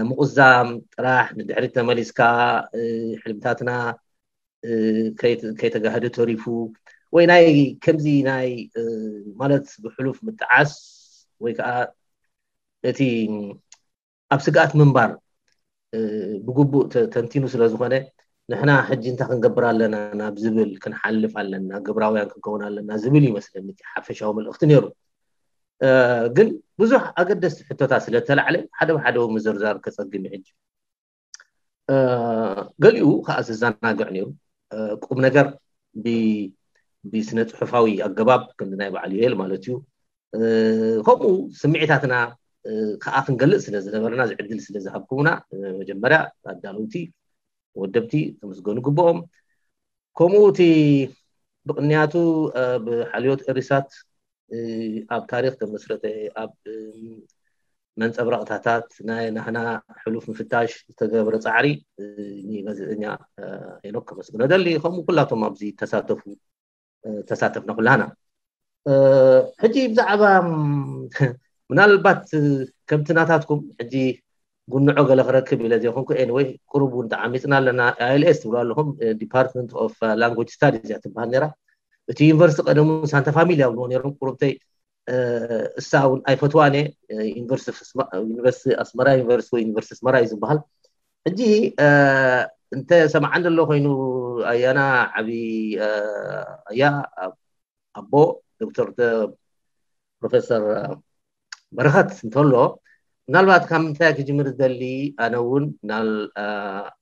ምቁዛም ጥራሕ ንድሕሪት ተመሊስካ ሕልምታትና ከይተጋህደ ተሪፉ ወይ ናይ ከምዚ ናይ ማለት ብሕሉፍ ምጥዓስ ወይ ከዓ እቲ ኣብ ስግኣት ምንባር ብግቡእ ተንቲኑ ስለ ዝኾነ ንሕና ሕጂ እንታይ ክንገብር ኣለና ናብ ዝብል ክንሓልፍ ኣለና፣ ግብራውያን ክንከውን ኣለና ዝብል ይመስለኒ እቲ ሓፈሻዊ መልእኽቲ ነይሩ። ግን ብዙሕ ኣገደስቲ ሕቶታት ስለ ተላዕለ ሓደ ብሓደ ምዝርዛር ከፀግም ሕጂ ገሊኡ ከዓ ዘዘናግዕ ነይሩ። ቁም ነገር ብስነ ፅሑፋዊ ኣገባብ ክንዲ ናይ በዓል ዩኤል ማለት እዩ። ከምኡ ስምዒታትና ከዓ ክንገልፅ ስለ ዝነበረና ዝዕድል ስለ ዝሃብኩምና መጀመርያ ኣዳለውቲ ወደብቲ ተመስገኑ ግብኦም። ከምኡ እቲ ብቅንያቱ ብሓልዮት ኤሪሳት ኣብ ታሪክ ተመስረተ ኣብ መንፀብራቅታታት ናይ ናህና ሕሉፍ ምፍታሽ ዝተገብረ ፃዕሪ ንጋዜጠኛ ሄኖክ ከመስግኖ ደሊ ከምኡ ኩላቶም ኣብዚ ተሳተፉ ተሳተፍና ኩላህና። ሕጂ ብዛዕባ ምናልባት ከምቲ ናታትኩም ሕጂ ጉንዖ ገለ ክረክብ ኢለ ዘይኮንኩ ኤንወይ ቁሩብ እውን ተዓሚፅና ኣለና። ኣይልኤስ ትብሉ ኣለኹም ዲፓርትመንት ኦፍ ላንጉጅ ስታዲዝ እያ ትበሃል ነራ። እቲ ዩኒቨርሲቲ ቀደሙ ሳንታ ፋሚልያ ብልዎ ነሮም ቁሩብተይ እሳ እውን ኣይፈትዋን እየ። ዩኒቨርሲቲ ኣስመራ ዩኒቨርሲቲ ወይ ዩኒቨርሲቲ ኣስመራ እዩ ዝበሃል። ሕጂ እንተ ሰማዓን ዘሎ ኮይኑ ኣያና ዓብዪ ኣያ ኣቦ ዶክተር ፕሮፌሰር በረኸት እንተሎ ምናልባት ካብ ምንታይ ክጅምር ዝደሊ ኣነ እውን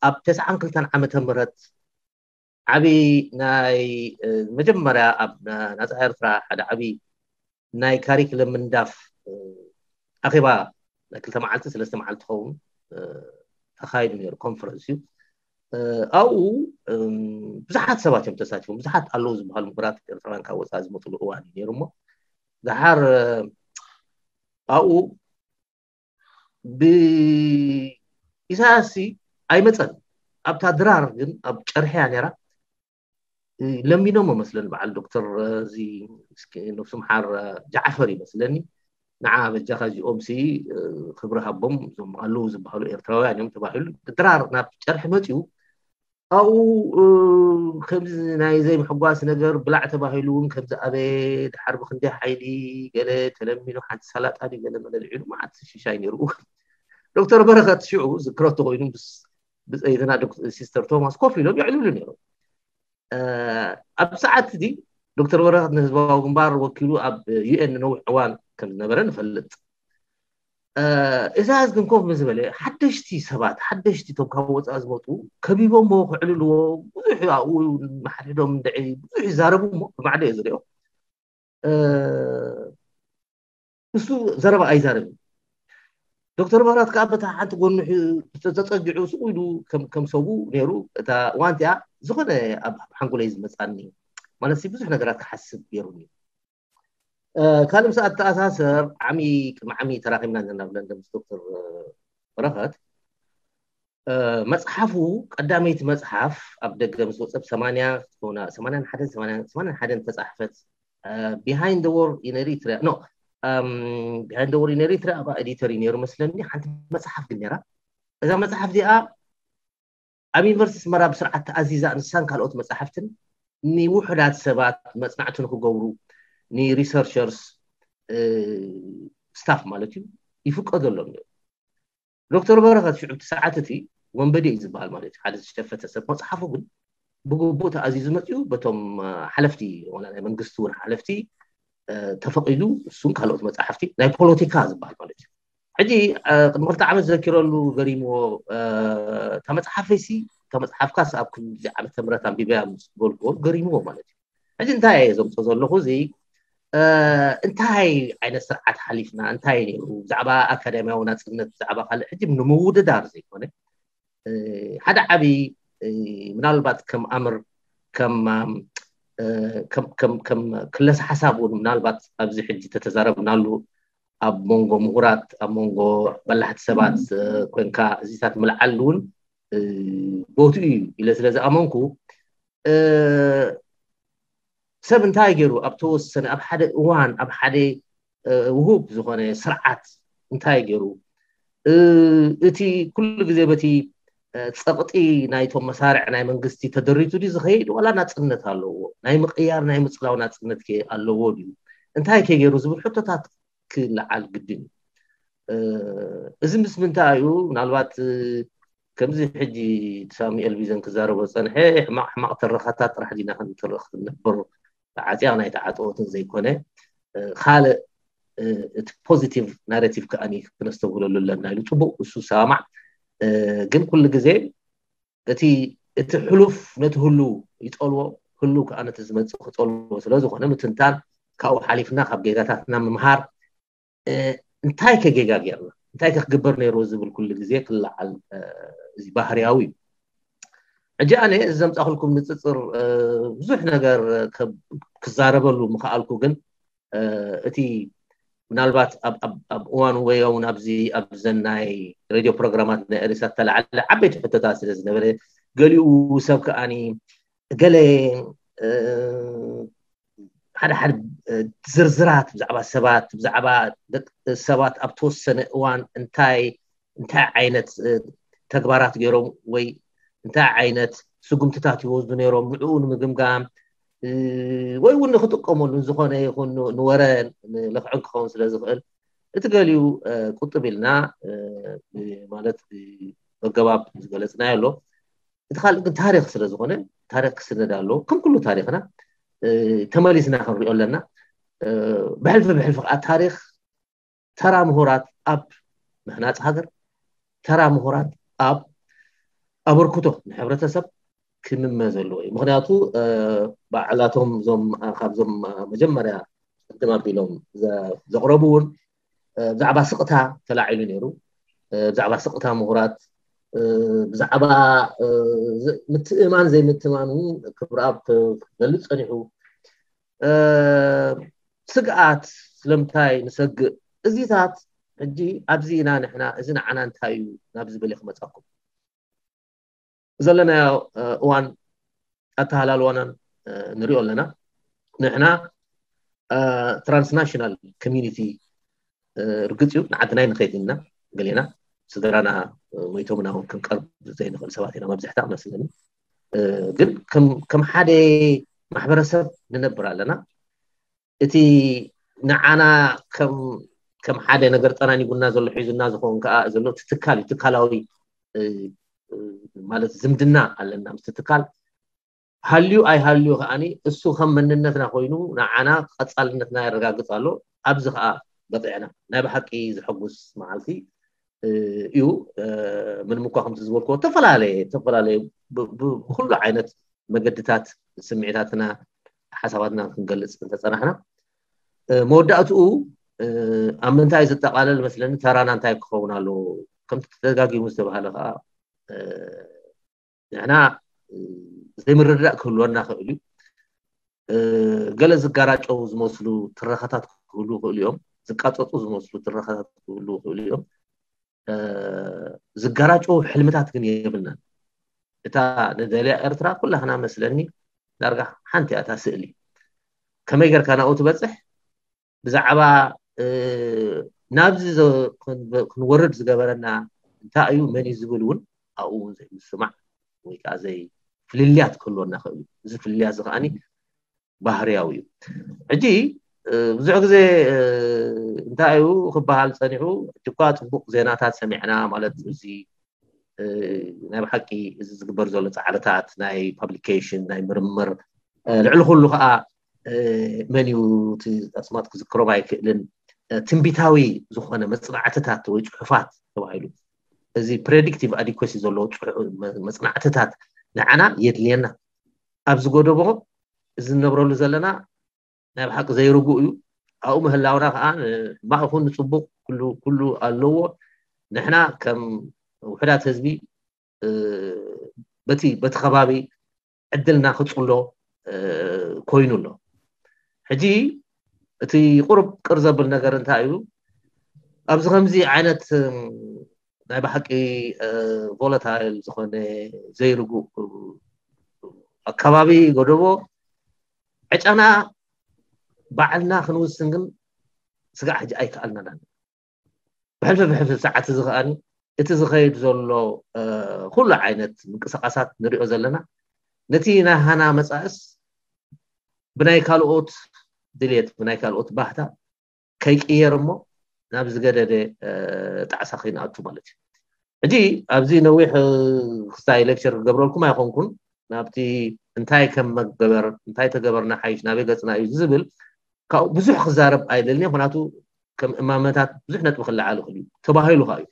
ኣብ ተስዓን ክልተን ዓመተ ምህረት ዓብዪ ናይ መጀመርያ ኣብ ናፃ ኤርትራ ሓደ ዓብዪ ናይ ካሪክለም ምንዳፍ ኣኼባ ናይ ክልተ መዓልቲ ሰለስተ መዓልቲ ኸውን ተኻይዱ ነይሩ ኮንፈረንስ እዩ። ኣብኡ ብዙሓት ሰባት እዮም ተሳቲፎም። ብዙሓት ኣለዉ ዝበሃሉ ምሁራት ኤርትራውያን ካብ ወፃኢ ዝመፅሉ እዋን እዩ ነይሩ እሞ ድሓር ኣብኡ ብኢሳያስ ኣይመፀን። ኣብታ ድራር ግን ኣብ ጨርሕያ ነይራ ለሚኖም መስለኒ በዓል ዶክተር እዚ ነብሱ ምሓር ጃዕፈር ይመስለኒ ንዓ በጃኻ እዚኦም ሲ ክብሪ ሃቦም እዞም ኣለዉ ዝበሃሉ ኤርትራውያን እዮም ተባሂሉ ድራር ናብ ጨርሒ መፅኡ ኣብኡ ከምዚ ናይ ዘይምሕጓስ ነገር ብላዕ ተባሂሉ እውን ከምዚ ኣበየ ድሓር ብክንደይ ሓይሊ ገለ ተለሚኑ ሓንቲ ሳላጣ ድዩ ገለ መለልዒሉ መዓት ሽሻይ ነይሩ። ዶክተር በረኸት ሽዑ ዝክረቶ ኮይኑ ምስ ብፀይትና ሲስተር ቶማስ ኮፍ ኢሎም የዕልሉ ነይሮም። ኣብ ሰዓት እዚ ዶክተር በረኸት ንህዝባዊ ግንባር ወኪሉ ኣብ ዩኤን ነዊሕ እዋን ከም ዝነበረ ንፈልጥ። እዛዝ ግን ኮፍ ምስ በለ ሓደሽቲ ሰባት ሓደሽቲ ቶም ካብ ወፃኢ ዝመፁ ከቢቦሞ ክዕልልዎ ብዙሕ ኣብኡ ንሓድሕዶም እንድዒ ብዙሕ ይዛረቡ እሞ ብማዕዶ እየ ዝሪኦ። ንሱ ዘረባ ኣይዛረብን። ዶክተር መራት ከዓ በታ ሓንቲ ጎኑ ተፀጊዑ ስቁ ኢሉ ከም ሰቡ ነይሩ። እታ እዋን እቲኣ ዝኾነ ኣብ ሓንጎለይ ዝመፃኒ ማለት ብዙሕ ነገራት ክሓስብ ገይሩኒ። ካልእ ምስ ኣተኣሳሰር ዓሚ ቅድሚ ዓሚ ተራኺብና ዘለና ብለንደን ምስ ዶክተር በረኸት መፅሓፉ ቀዳመይቲ መፅሓፍ ኣብ ደገ ምስ ወፀብ ሰማንያ ትኾና ሰማንያን ሓደን ሰማንያን ሓደን ተፃሕፈት Behind the War in Eritrea no Behind the War in Eritrea ኣብ ኤዲተር እዩ ነይሩ መስለኒ። ሓንቲ መፅሓፍ ግን ነራ እዛ መፅሓፍ እዚኣ ኣብ ዩኒቨርሲቲ ኣስመራ ብስርዓት ተኣዚዛ ንሳን ካልኦት መፅሓፍትን ንውሑዳት ሰባት መፅናዕቲ ንክገብሩ ንሪሰርቸርስ ስታፍ ማለት እዩ ይፍቀደሎም ነይሩ። ዶክተር በረኸት ሽዑ እቲ ሰዓት እቲ ወንበዴ እዩ ዝበሃል ማለት እዩ። ሓደ ዝሸፈተ ሰብ መፅሓፉ ግን ብግቡእ ተኣዚዙ መፅኡ በቶም ሓለፍቲ ወላ ናይ መንግስቲ እውን ሓለፍቲ ተፈቂዱ እሱን ካልኦት መፅሓፍቲ ናይ ፖለቲካ ዝበሃል ማለት እዩ። ሕጂ ቅድሚ ክልተ ዓመት ዘኪረሉ ገሪምዎ እታ መፅሓፈይሲ እታ መፅሓፍካስ ኣብ ክንዚ ዓመተ ምህረት ኣንቢበያ ምስ በልክዎ ገሪምዎ ማለት እዩ። ሕጂ እንታይ እየ ዘምፅኦ ዘለኹ እዚ እንታይ ዓይነት ስርዓት ሓሊፍና እንታይ ነይሩ ብዛዕባ ኣካዳሚያዊ ናፅነት ብዛዕባ ካልእ ሕጂ ንምውድዳር ዘይኮነ ሓደ ዓብዪ ምናልባት ከም ኣምር ከም ክለሳ ሓሳብ እውን ምናልባት ኣብዚ ሕጂ ተተዛረብናሉ ኣብ መንጎ ምሁራት ኣብ መንጎ በላሕቲ ሰባት ኮይንካ እዚታት ምልዓል እውን ቦትኡ እዩ ኢለ ስለ ዝኣመንኩ ሰብ እንታይ ገይሩ ኣብ ተወሰነ ኣብ ሓደ እዋን ኣብ ሓደ ውሁብ ዝኾነ ስርዓት እንታይ ገይሩ እቲ ኩሉ ግዜ በቲ ፀቕጢ ናይቶም መሳርዕ ናይ መንግስቲ ተደሪቱ ድዩ ዝኸይድ ዋላ ናፅነት ኣለዎ ናይ ምቕያር ናይ ምፅላው ናፅነት ከ ኣለዎ ድዩ እንታይ ከ ገይሩ ዝብል ሕቶታት ክለዓል ግድን እዩ። እዚ ምስ ምንታይ እዩ ምናልባት ከምዚ ሕጂ ሳሙኤል ቢዘን ክዛረቦ ዝፀንሐ ሕማቕ ሕማቕ ተረኻታት ጥራሕ ዲና ክንተርኽ ክንነብር ተዓፅያ ናይ ተዓፀወትን ዘይኮነ ካልእ እቲ ፖዚቲቭ ናሬቲቭ ከኣ ክነስተብህለሉ ኣለና ኢሉ ፅቡቅ እሱ ሰማማዕ ግን ኩሉ ግዜ እቲ እቲ ሕሉፍ ነቲ ህሉ ይፀልዎ ህሉ ከዓ ነቲ ዝመፅእ ክፀልዎ ስለዝኮነ ምትንታን ካብኡ ሓሊፍና ካብ ጌጋታትና ምምሃር እንታይ ከጌጋ ጌርና እንታይ ከክግበር ነይርዎ ዝብል ኩሉ ግዜ ክለዓል እዚ ባህርያዊ እዩ። ሕጂ ኣነ እዚ ዘምፃእኩልኩም ንፅፅር ብዙሕ ነገር ክዛረበሉ ምክኣልኩ ግን እቲ ምናልባት ኣብ እዋኑ ወይ እውን ኣብዚ ኣብዘን ናይ ሬድዮ ፕሮግራማት ናይ ኤሪሳት ተላዓለ ዓበይቲ ሕቶታት ስለ ዝነበረ ገሊኡ ሰብ ከኣኒ ገለ ሓደ ሓደ ዝርዝራት ብዛዕባ ሰባት ብዛዕባ ሰባት ኣብ ተወሰነ እዋን እንታይ እንታይ ዓይነት ተግባራት ገይሮም ወይ እንታይ ዓይነት ስጉምትታት ይወስዱ ነይሮም ንዕኡ ንምግምጋም ወይ እውን ንክጥቀመሉ ዝኾነ ይኹን ንወረ ንልክዕን ክኸውን ስለ ዝኽእል እቲ ገሊኡ ቁጥብ ኢልና ማለት ኣገባብ ዝገለፅናዮ ኣሎ። እቲ ካልእ ግን ታሪክ ስለ ዝኾነ ታሪክ ክስነድ ኣለዎ። ከም ኩሉ ታሪክና ተመሊስና ክንሪኦ ኣለና። ብሕልፊ ብሕልፊ ከዓ ታሪክ ተራ ምሁራት ኣብ ምህናፅ ሃገር፣ ተራ ምሁራት ኣብ ኣበርክቶ ንሕብረተሰብ ክምመ ዘለዎ እዩ። ምክንያቱ ባዕላቶም እዞም ካብዞም መጀመርያ ቅድም ኣቢሎም ዘቕረቡ እውን ብዛዕባ ስቕታ ተላዒሉ ነይሩ። ብዛዕባ ስቕታ ምሁራት ብዛዕባ ምትእማን ዘይምትእማን እውን ክብረኣብ ክገልፅ ፀኒሑ ስግኣት ስለምንታይ ንሰግእ እዚታት ሕጂ ኣብዚ ኢና ንሕና እዚ ንዓና እንታይ እዩ ናብ ዝብል ክመፀኩም ዘለናዮ እዋን ኣተሃላልዋናን ንሪኦ ኣለና። ንሕና ትራንስናሽናል ኮሚኒቲ ርግፅ እዩ ንዓድናይ ንኸይድ ኢና ገሌና ስድራና ሞይቶምና እውን ክንቀርብ ዘይንኽእል ሰባት ኢና መብዝሕታ መስለኒ። ግን ከም ሓደ ማሕበረሰብ ንነብር ኣለና። እቲ ንዓና ከም ሓደ ነገር ጠናኒጉና ዘሎ ሒዙና ዝኸውን ከዓ ዘሎ እቲ ትካል እዩ። ትካላዊ ማለት ዝምድና ኣለና ምስቲ ትካል ሃልዩ ኣይሃልዩ ከዓኒ እሱ ከም መንነትና ኮይኑ ንዓና ቀፃልነትና የረጋግፅ ኣሎ። ኣብዚ ከዓ በቂዕና። ናይ ብሓቂ ዘሐጉስ መዓልቲ እዩ። ምንም እኳ ከምቲ ዝበልክዎ ዝተፈላለየ ዝተፈላለየ ብኩሉ ዓይነት መገድታት ስምዒታትና ሓሳባትና ክንገልፅ እንተፀናሕና፣ መወዳእትኡ ኣብ ምንታይ ዝጠቃለል መስለኒ፣ ተራና እንታይ ክኸውን ኣለዎ? ከምቲ ተደጋጊሙ ዝተባሃለ ከዓ፣ ንሕና ዘይምርድዳእ ክህልወና ክእል እዩ። ገለ ዝጋራጨው ዝመስሉ ትረኻታት ክህሉ ይኽእሉ እዮም። ዝቃፀፁ ዝመስሉ ትረኻታት ክህሉ ይኽእሉ እዮም። ዝጋራጨው ሕልምታት ግን የብልናን። እታ ንደልያ ኤርትራ ኩላህና መስለኒ ዳርጋ ሓንቲ እያ እታ ስእሊ። ከመይ ጌርካ ናብኡ ትበፅሕ? ብዛዕባ ናብዚ ክንወርድ ዝገበረና እንታይ እዩ፣ መን እዩ ዝብል እውን ኣብኡ እውን ዘይምስማዕ ወይ ከዓ ዘይ ፍልልያት ክህልወና ክእል እዩ። እዚ ፍልልያት እዚ ከዓኒ ባህርያዊ እዩ። ሕጂ ብዙሕ ግዜ እንታይ እዩ ክበሃል ፀኒሑ፣ ሕጂ እኳ ፅቡቅ ዜናታት ሰሚዕና፣ ማለት እዚ ናይ ብሓቂ እዚ ዝግበር ዘሎ ፃዕርታት ናይ ፓብሊኬሽን ናይ ምርምር ልዕሊ ኩሉ ከዓ መን እዩ እቲ ኣስማት ክዝክሮም ኣይክእልን ትንቢታዊ ዝኾነ መፅናዕትታት ወይ ፅሑፋት ተባሂሉ፣ እዚ ፕሬዲክቲቭ ኣዲኮሲ ዘለዎ መፅናዕትታት ንዓና የድልየና። ኣብዚ ጎደቦ እዚ ንነብረሉ ዘለና ናይ ብሓቂ ዘይርጉእ እዩ። ኣብኡ ምህላውና ከዓ ሕማቕ ይኹን ንፅቡቅ ኩሉ ኣለዎ። ንሕና ከም ውሕዳት ህዝቢ በቲ በቲ ከባቢ ዕድልና ክፅሎ ኮይኑ ኣሎ። ሕጂ እቲ ቁርብ ቅር ዘብል ነገር እንታይ እዩ? ኣብዚ ከምዚ ዓይነት ናይ ብሓቂ ቮለታይል ዝኾነ ዘይርጉእ ኣከባቢ ጎደቦ ዕጫና ባዕልና ክንውስን ግን ስጋዕ ሕጂ ኣይከኣልናን። ብሕልፊ ብሕልፊ ሰዓት እዚ ከኣኒ እቲ ዝኸይድ ዘሎ ኩሉ ዓይነት ምንቅስቃሳት ንሪኦ ዘለና ነቲ ናይ ሃና መፃእስ ብናይ ካልኦት ድሌት ብናይ ካልኦት ባህታ ከይቅየር እሞ ናብ ዝገደደ ጣዕሳ ከይንኣቱ ማለት እዩ። ሕጂ ኣብዚ ነዊሕ ክስታይ ሌክቸር ክገብረልኩም ኣይኮንኩን። ናብቲ እንታይ ከም መገበር እንታይ ተገበርና ሓይሽ ናበይ ገፅና እዩ ዝብል ካብኡ ብዙሕ ክዛረብ ኣይደልን። ምክንያቱ ከም እማመታት ብዙሕ ነጥቢ ክለዓል ይኽእል እዩ ተባሂሉ ከዓ እዩ።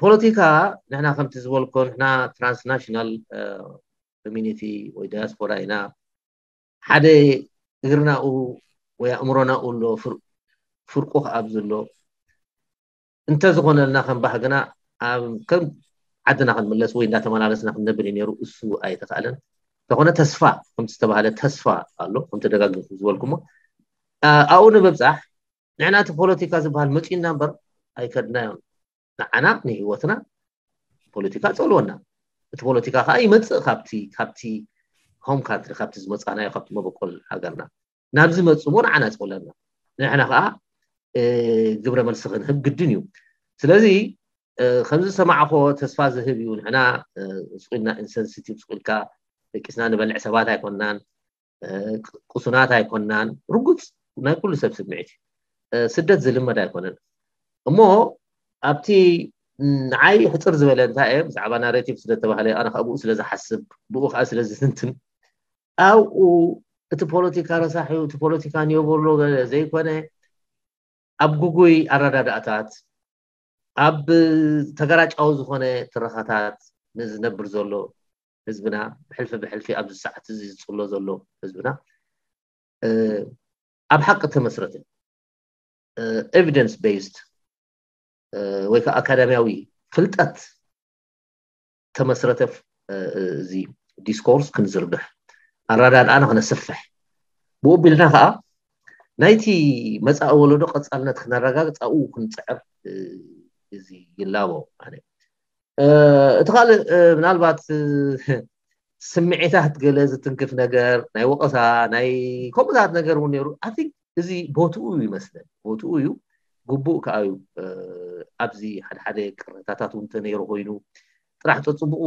ፖለቲካ ንሕና ከምቲ ዝበልኮ ንሕና ትራንስናሽናል ኮሚኒቲ ወይ ዳያስፖራ ኢና። ሓደ እግርናኡ ወይ ኣእምሮናኡ ኣሎ ፍርቁ ከኣ ኣብዚ ኣሎ። እንተዝኾነልና ከም ባህግና ኣብ ከም ዓድና ክንምለስ ወይ እንዳተመላለስና ክንነብር እዩ ነይሩ። እሱ ኣይተኻእለን። እንተኾነ ተስፋ ከምቲ ዝተባሃለ ተስፋ ኣሎ። ከም ተደጋግምኩም ዝበልኩሞ ኣብኡ ንምብፃሕ ንሕና እቲ ፖለቲካ ዝበሃል መፂኡና እምበር ኣይከድናዮን። ንዓና ንህይወትና ፖለቲካ ፀልወና። እቲ ፖለቲካ ከዓ ይመፅእ ካብቲ ካብቲ ሆም ካንትሪ ካብቲ ዝመፃናዮ ካብቲ መበቆል ሃገርና ናብዚ መፅእ እሞ ንዓና ይፀለና። ንሕና ከዓ ግብረ መልሲ ክንህብ ግድን እዩ። ስለዚ ከምዚ ዝሰማዕኮ ተስፋ ዝህብ እዩ። ንሕና ስቁልና ኢንሰንሲቲቭ ስቁልካ ደቂስና ንበልዕ ሰባት ኣይኮናን፣ ቁሱናት ኣይኮናን። ርጉፅ ናይ ኩሉ ሰብ ስምዒት እዩ። ስደት ዝልመድ ኣይኮነን። እሞ ኣብቲ ንዓይ ሕፅር ዝበለ እንታይ እየ ብዛዕባ ናሬቲቭ ስለ ተባህለ ኣነ ካብኡ ስለ ዝሓስብ ብኡ ከዓ ስለ ዝትንትን ኣብኡ እቲ ፖለቲካ ረሳሕ እዩ፣ እቲ ፖለቲካ ንየበሎ ዘይኮነ ኣብ ጉጉይ ኣረዳዳእታት ኣብ ተገራጫዊ ዝኾነ ትረኻታት ንዝነብር ዘሎ ህዝብና ብሕልፊ ብሕልፊ ኣብዚ ሰዓት እዚ ዝፅሎ ዘሎ ህዝብና ኣብ ሓቂ ተመስረተ ኤቪደንስ ቤስድ ወይ ከዓ ኣካዳሚያዊ ፍልጠት ተመስረተ እዚ ዲስኮርስ ክንዝርግሕ ኣረዳድኣና ክነስፍሕ ብኡ ቢልና ከዓ ናይቲ መፃኢ ወለዶ ቀፃልነት ክነረጋግፅ ኣብኡ ክንፅዕር እዚ ይላቦ ኣነ እቲ ካልእ ምናልባት ስምዒታት ገለ ዝትንክፍ ነገር ናይ ወቀሳ ናይ ከምኡታት ነገር እውን ነይሩ ኣይ ቲንክ እዚ ቦትኡ እዩ ይመስለኒ ቦትኡ እዩ ግቡእ ከዓ እዩ ኣብዚ ሓደ ሓደ ቅሬታታት እውን ተነይሩ ኮይኑ ጥራሕ ፀፅቡቁ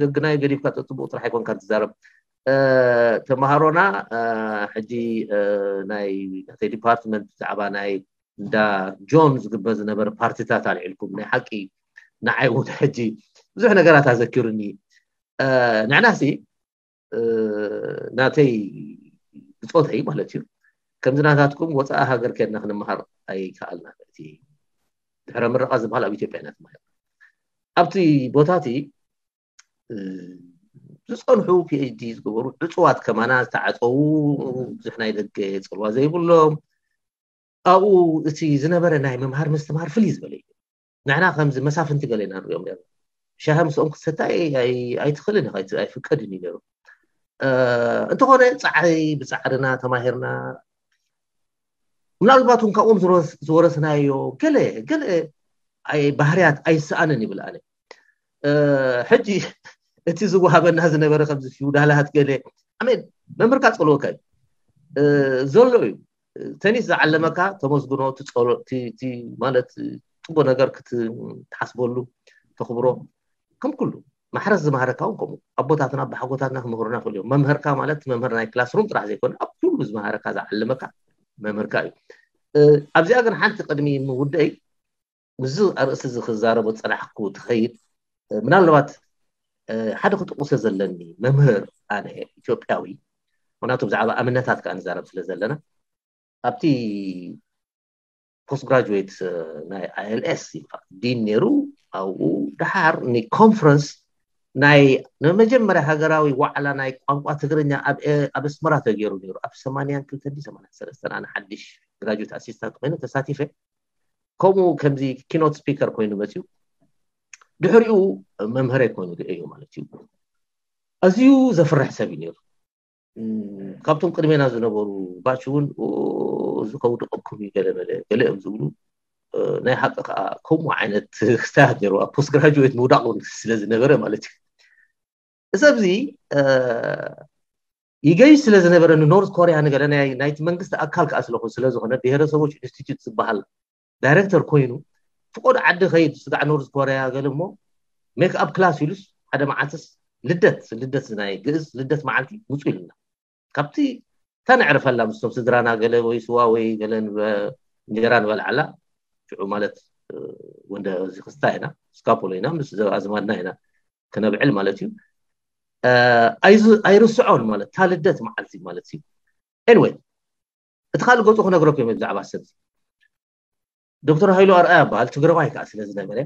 ገግናይ ገዲፍካ ፀፅቡቁ ጥራሕ ኣይኮንካ ትዛረብ ተምሃሮና ሕጂ ናይ ናተይ ዲፓርትመንት ብዛዕባ ናይ እንዳ ጆን ዝግበር ዝነበረ ፓርቲታት ኣልዒልኩም ናይ ሓቂ ንዓይ እውን ሕጂ ብዙሕ ነገራት ኣዘኪሩኒ ንሕናሲ ናተይ ብፆተይ ማለት እዩ ከምዚ ናታትኩም ወፃኢ ሃገር ከድና ክንመሃር ኣይከኣልናን። እቲ ድሕረ ምረቓ ዝበሃል ኣብ ኢትዮጵያ ኢና ተማሂርና። ኣብቲ ቦታ እቲ ዝፀንሑ ፒኤችዲ ዝገበሩ ዕፁዋት ከማና ዝተዓፀዉ፣ ብዙሕ ናይ ደገ ፅልዋ ዘይብሎም፣ ኣብኡ እቲ ዝነበረ ናይ ምምሃር ምስትምሃር ፍልይ ዝበለ እዩ። ንሕና ከምዚ መሳፍንቲ ገለ ኢና ንሪኦም ነርና። ሻሂ ምስኦም ክትሰታይ ኣይትኽእልን ኢኻ፣ ኣይፍቀድን እዩ ነይሩ። እንተኾነ ፃዕሪ ብፃዕርና ተማሂርና። ምናልባት እውን ካብኦም ዝወረስናዮ ገለ ገለ ባህርያት ኣይሰኣንን ይብል ኣነ። ሕጂ እቲ ዝወሃበና ዝነበረ ከምዚ ፊውዳላት ገለ ኣሜን መምህርካ ፀልወካ እዩ ዘሎ እዩ። ተኒስ ዝዓለመካ ተመስግኖ፣ ማለት ፅቡቅ ነገር ክትሓስበሉ ተኽብሮ። ከም ኩሉ ማሕረስ ዝመሃረካ እውን ከምኡ ኣቦታትና ኣቦሓጎታትና ክምህሩና ክእሉ እዮም። መምህርካ ማለት መምህር ናይ ክላስሩም ጥራሕ ዘይኮነ ኣብ ኩሉ ዝመሃረካ ዝዓለመካ መምህርካ እዩ። ኣብዚኣ ግን ሓንቲ ቅድሚ ምውደይ ምስዚ ኣርእስቲ እዚ ክዛረቦ ዝፀናሕኩ ትኸይድ ምናልባት ሓደ ክጥቁሰ ዘለኒ መምህር ኣነ ኢትዮጵያዊ ምክንያቱ ብዛዕባ እምነታት ከዓ ንዛረብ ስለ ዘለና ኣብቲ post graduate ናይ ILS ይበሃል ዲን ነይሩ ኣብኡ ደሓር ንኮንፈረንስ ናይ ንመጀመርያ ሃገራዊ ዋዕላ ናይ ቋንቋ ትግርኛ ኣብ ኣስመራ ተገይሩ ነይሩ ኣብ ሰማንያን ክልተን ሰማንያን ሰለስተን ኣነ ሓድሽ graduate assistant ኮይኑ ተሳቲፈ ከምኡ ከምዚ keynote speaker ኮይኑ መፅዩ ድሕሪኡ መምህረይ ኮይኑ ርእዮ ማለት እዩ። ኣዝዩ ዘፍርሕ ሰብ እዩ ነይሩ። ካብቶም ቅድሜና ዝነበሩ batch እውን እዚ ከውድቐኩም እዩ ገለ መለ ገለ እዮም ዝብሉ። ናይ ሓቂ ከዓ ከምኡ ዓይነት ክስታያት ነይሩ ኣብ post graduate ምውዳቕ እውን ስለ ዝነበረ ማለት እዩ። እዚ ኣብዚ ይገይ ስለ ዝነበረ ንኖርት ኮርያ ንገለ ናይቲ መንግስቲ ኣካል ከዓ ስለኹ ስለዝኾነ ብሄረሰቦች ኢንስቲትዩት ዝበሃል ዳይሬክተር ኮይኑ ፍቆድ ዓዲ ከይድ ስጋዕ ኖርዝ ኮርያ ገለ እሞ ሜክ ኣፕ ክላስ ኢሉስ ሓደ መዓልትስ ልደት ልደት ናይ ግእዝ ልደት መዓልቲ ውፁ ኢሉና ካብቲ እታ ነዕርፈላ ምስቶም ስድራና ገለ ወይ ስዋ ወይ ገለ እንጀራ ንበልዓላ ሽዑ ማለት ወንደ እዚ ክስታ ኢና ስካፖሎ ኢና ምስ ኣዝማድና ኢና ክነብዕል ማለት እዩ። ኣይርስዖን ማለት እታ ልደት መዓልቲ ማለት እዩ። Anyway እቲ ካልእ ገፁ ክነግረኩም እዮም ብዛዕባ ሰብ ዶክተር ሃይሉ ኣርኣያ በሃል ትግራዋይ ከዓ ስለ ዝነበረ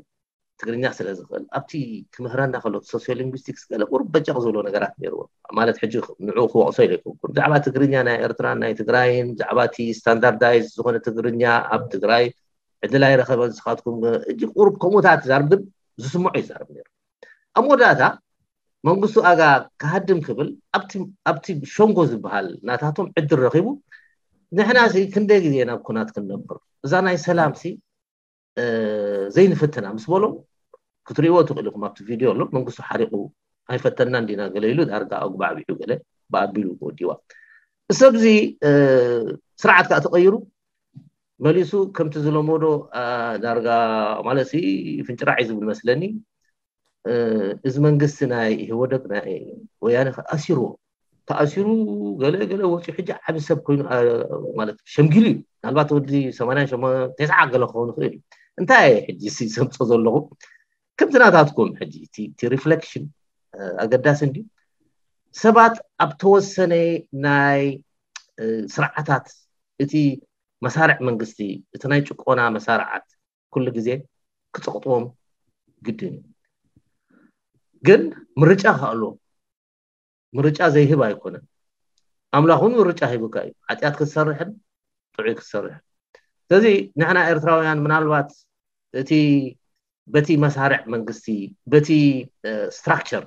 ትግርኛ ስለ ዝኽእል ኣብቲ ክምህረና ከሎ sociolinguistics ገለ ቁሩብ በጨቕ ዝብሎ ነገራት ነይርዎ ማለት ሕጂ ንዕኡ ክወቕሶ ኢለ ኣይኮንኩን ብዛዕባ ትግርኛ ናይ ኤርትራን ናይ ትግራይን ብዛዕባ እቲ standardized ዝኾነ ትግርኛ ኣብ ትግራይ ዕድል ኣይረኸበን ንስኻትኩም እጅ ቁሩብ ከምኡታት ይዛርብ ግን ዝስምዖ ይዛርብ ነይሩ ኣብ መወዳእታ መንግስቱ ኣጋ ክሃድም ክብል ኣብቲ ሸንጎ ዝበሃል ናታቶም ዕድል ረኺቡ ንሕና ሲ ክንደይ ግዜ ናብ ኩናት ክንነብር እዛ ናይ ሰላም ሲ ዘይንፍትና ምስ በሎም ክትሪእዎ ትኽእል ኢኹም ኣብቲ ቪድዮ ኣሎ መንግስቱ ሓሪቑ ኣይፈተና እንዲና ገለ ኢሉ ዳርጋ ኣጉባዕቢዑ ገለ ብኣቢሉ ወዲዋ እሰብዚ ስርዓት ከዓ ተቐይሩ መሊሱ ከምቲ ዝለመዶ ዳርጋ ማለት ፍንጭራዕ እዩ ዝብል መስለኒ እዚ መንግስቲ ናይ ኢህወደግ ናይ ወያነ ኣሲርዎ ተኣሲሩ ገለ ገለ ወፂኡ ሕጂ ዓቢ ሰብ ኮይኑ ማለት ሸምጊሉ እዩ ምናልባት ወዲ ሰማንያን ሸሞንተን ተስዓ ገለ ክኸውን ይኽእል እዩ እንታይ ሕጂ ዘምፆ ዘለኹ ከምቲ ናታትኩም ሕጂ እቲ reflection ኣገዳሲ እንድዩ ሰባት ኣብ ተወሰነ ናይ ስርዓታት እቲ መሳርዕ መንግስቲ እቲ ናይ ጭቆና መሳርዓት ኩሉ ግዜ ክፀቕጥዎም ግድን እዩ ግን ምርጫ ከኣልዎም ምርጫ ዘይህብ ኣይኮነን ኣምላኽ እውን ምርጫ ሂቡካ እዩ ሓጢኣት ክትሰርሕን ጥዑይ ክትሰርሕን ስለዚ ንሕና ኤርትራውያን ምናልባት እቲ በቲ መሳርዕ መንግስቲ በቲ structure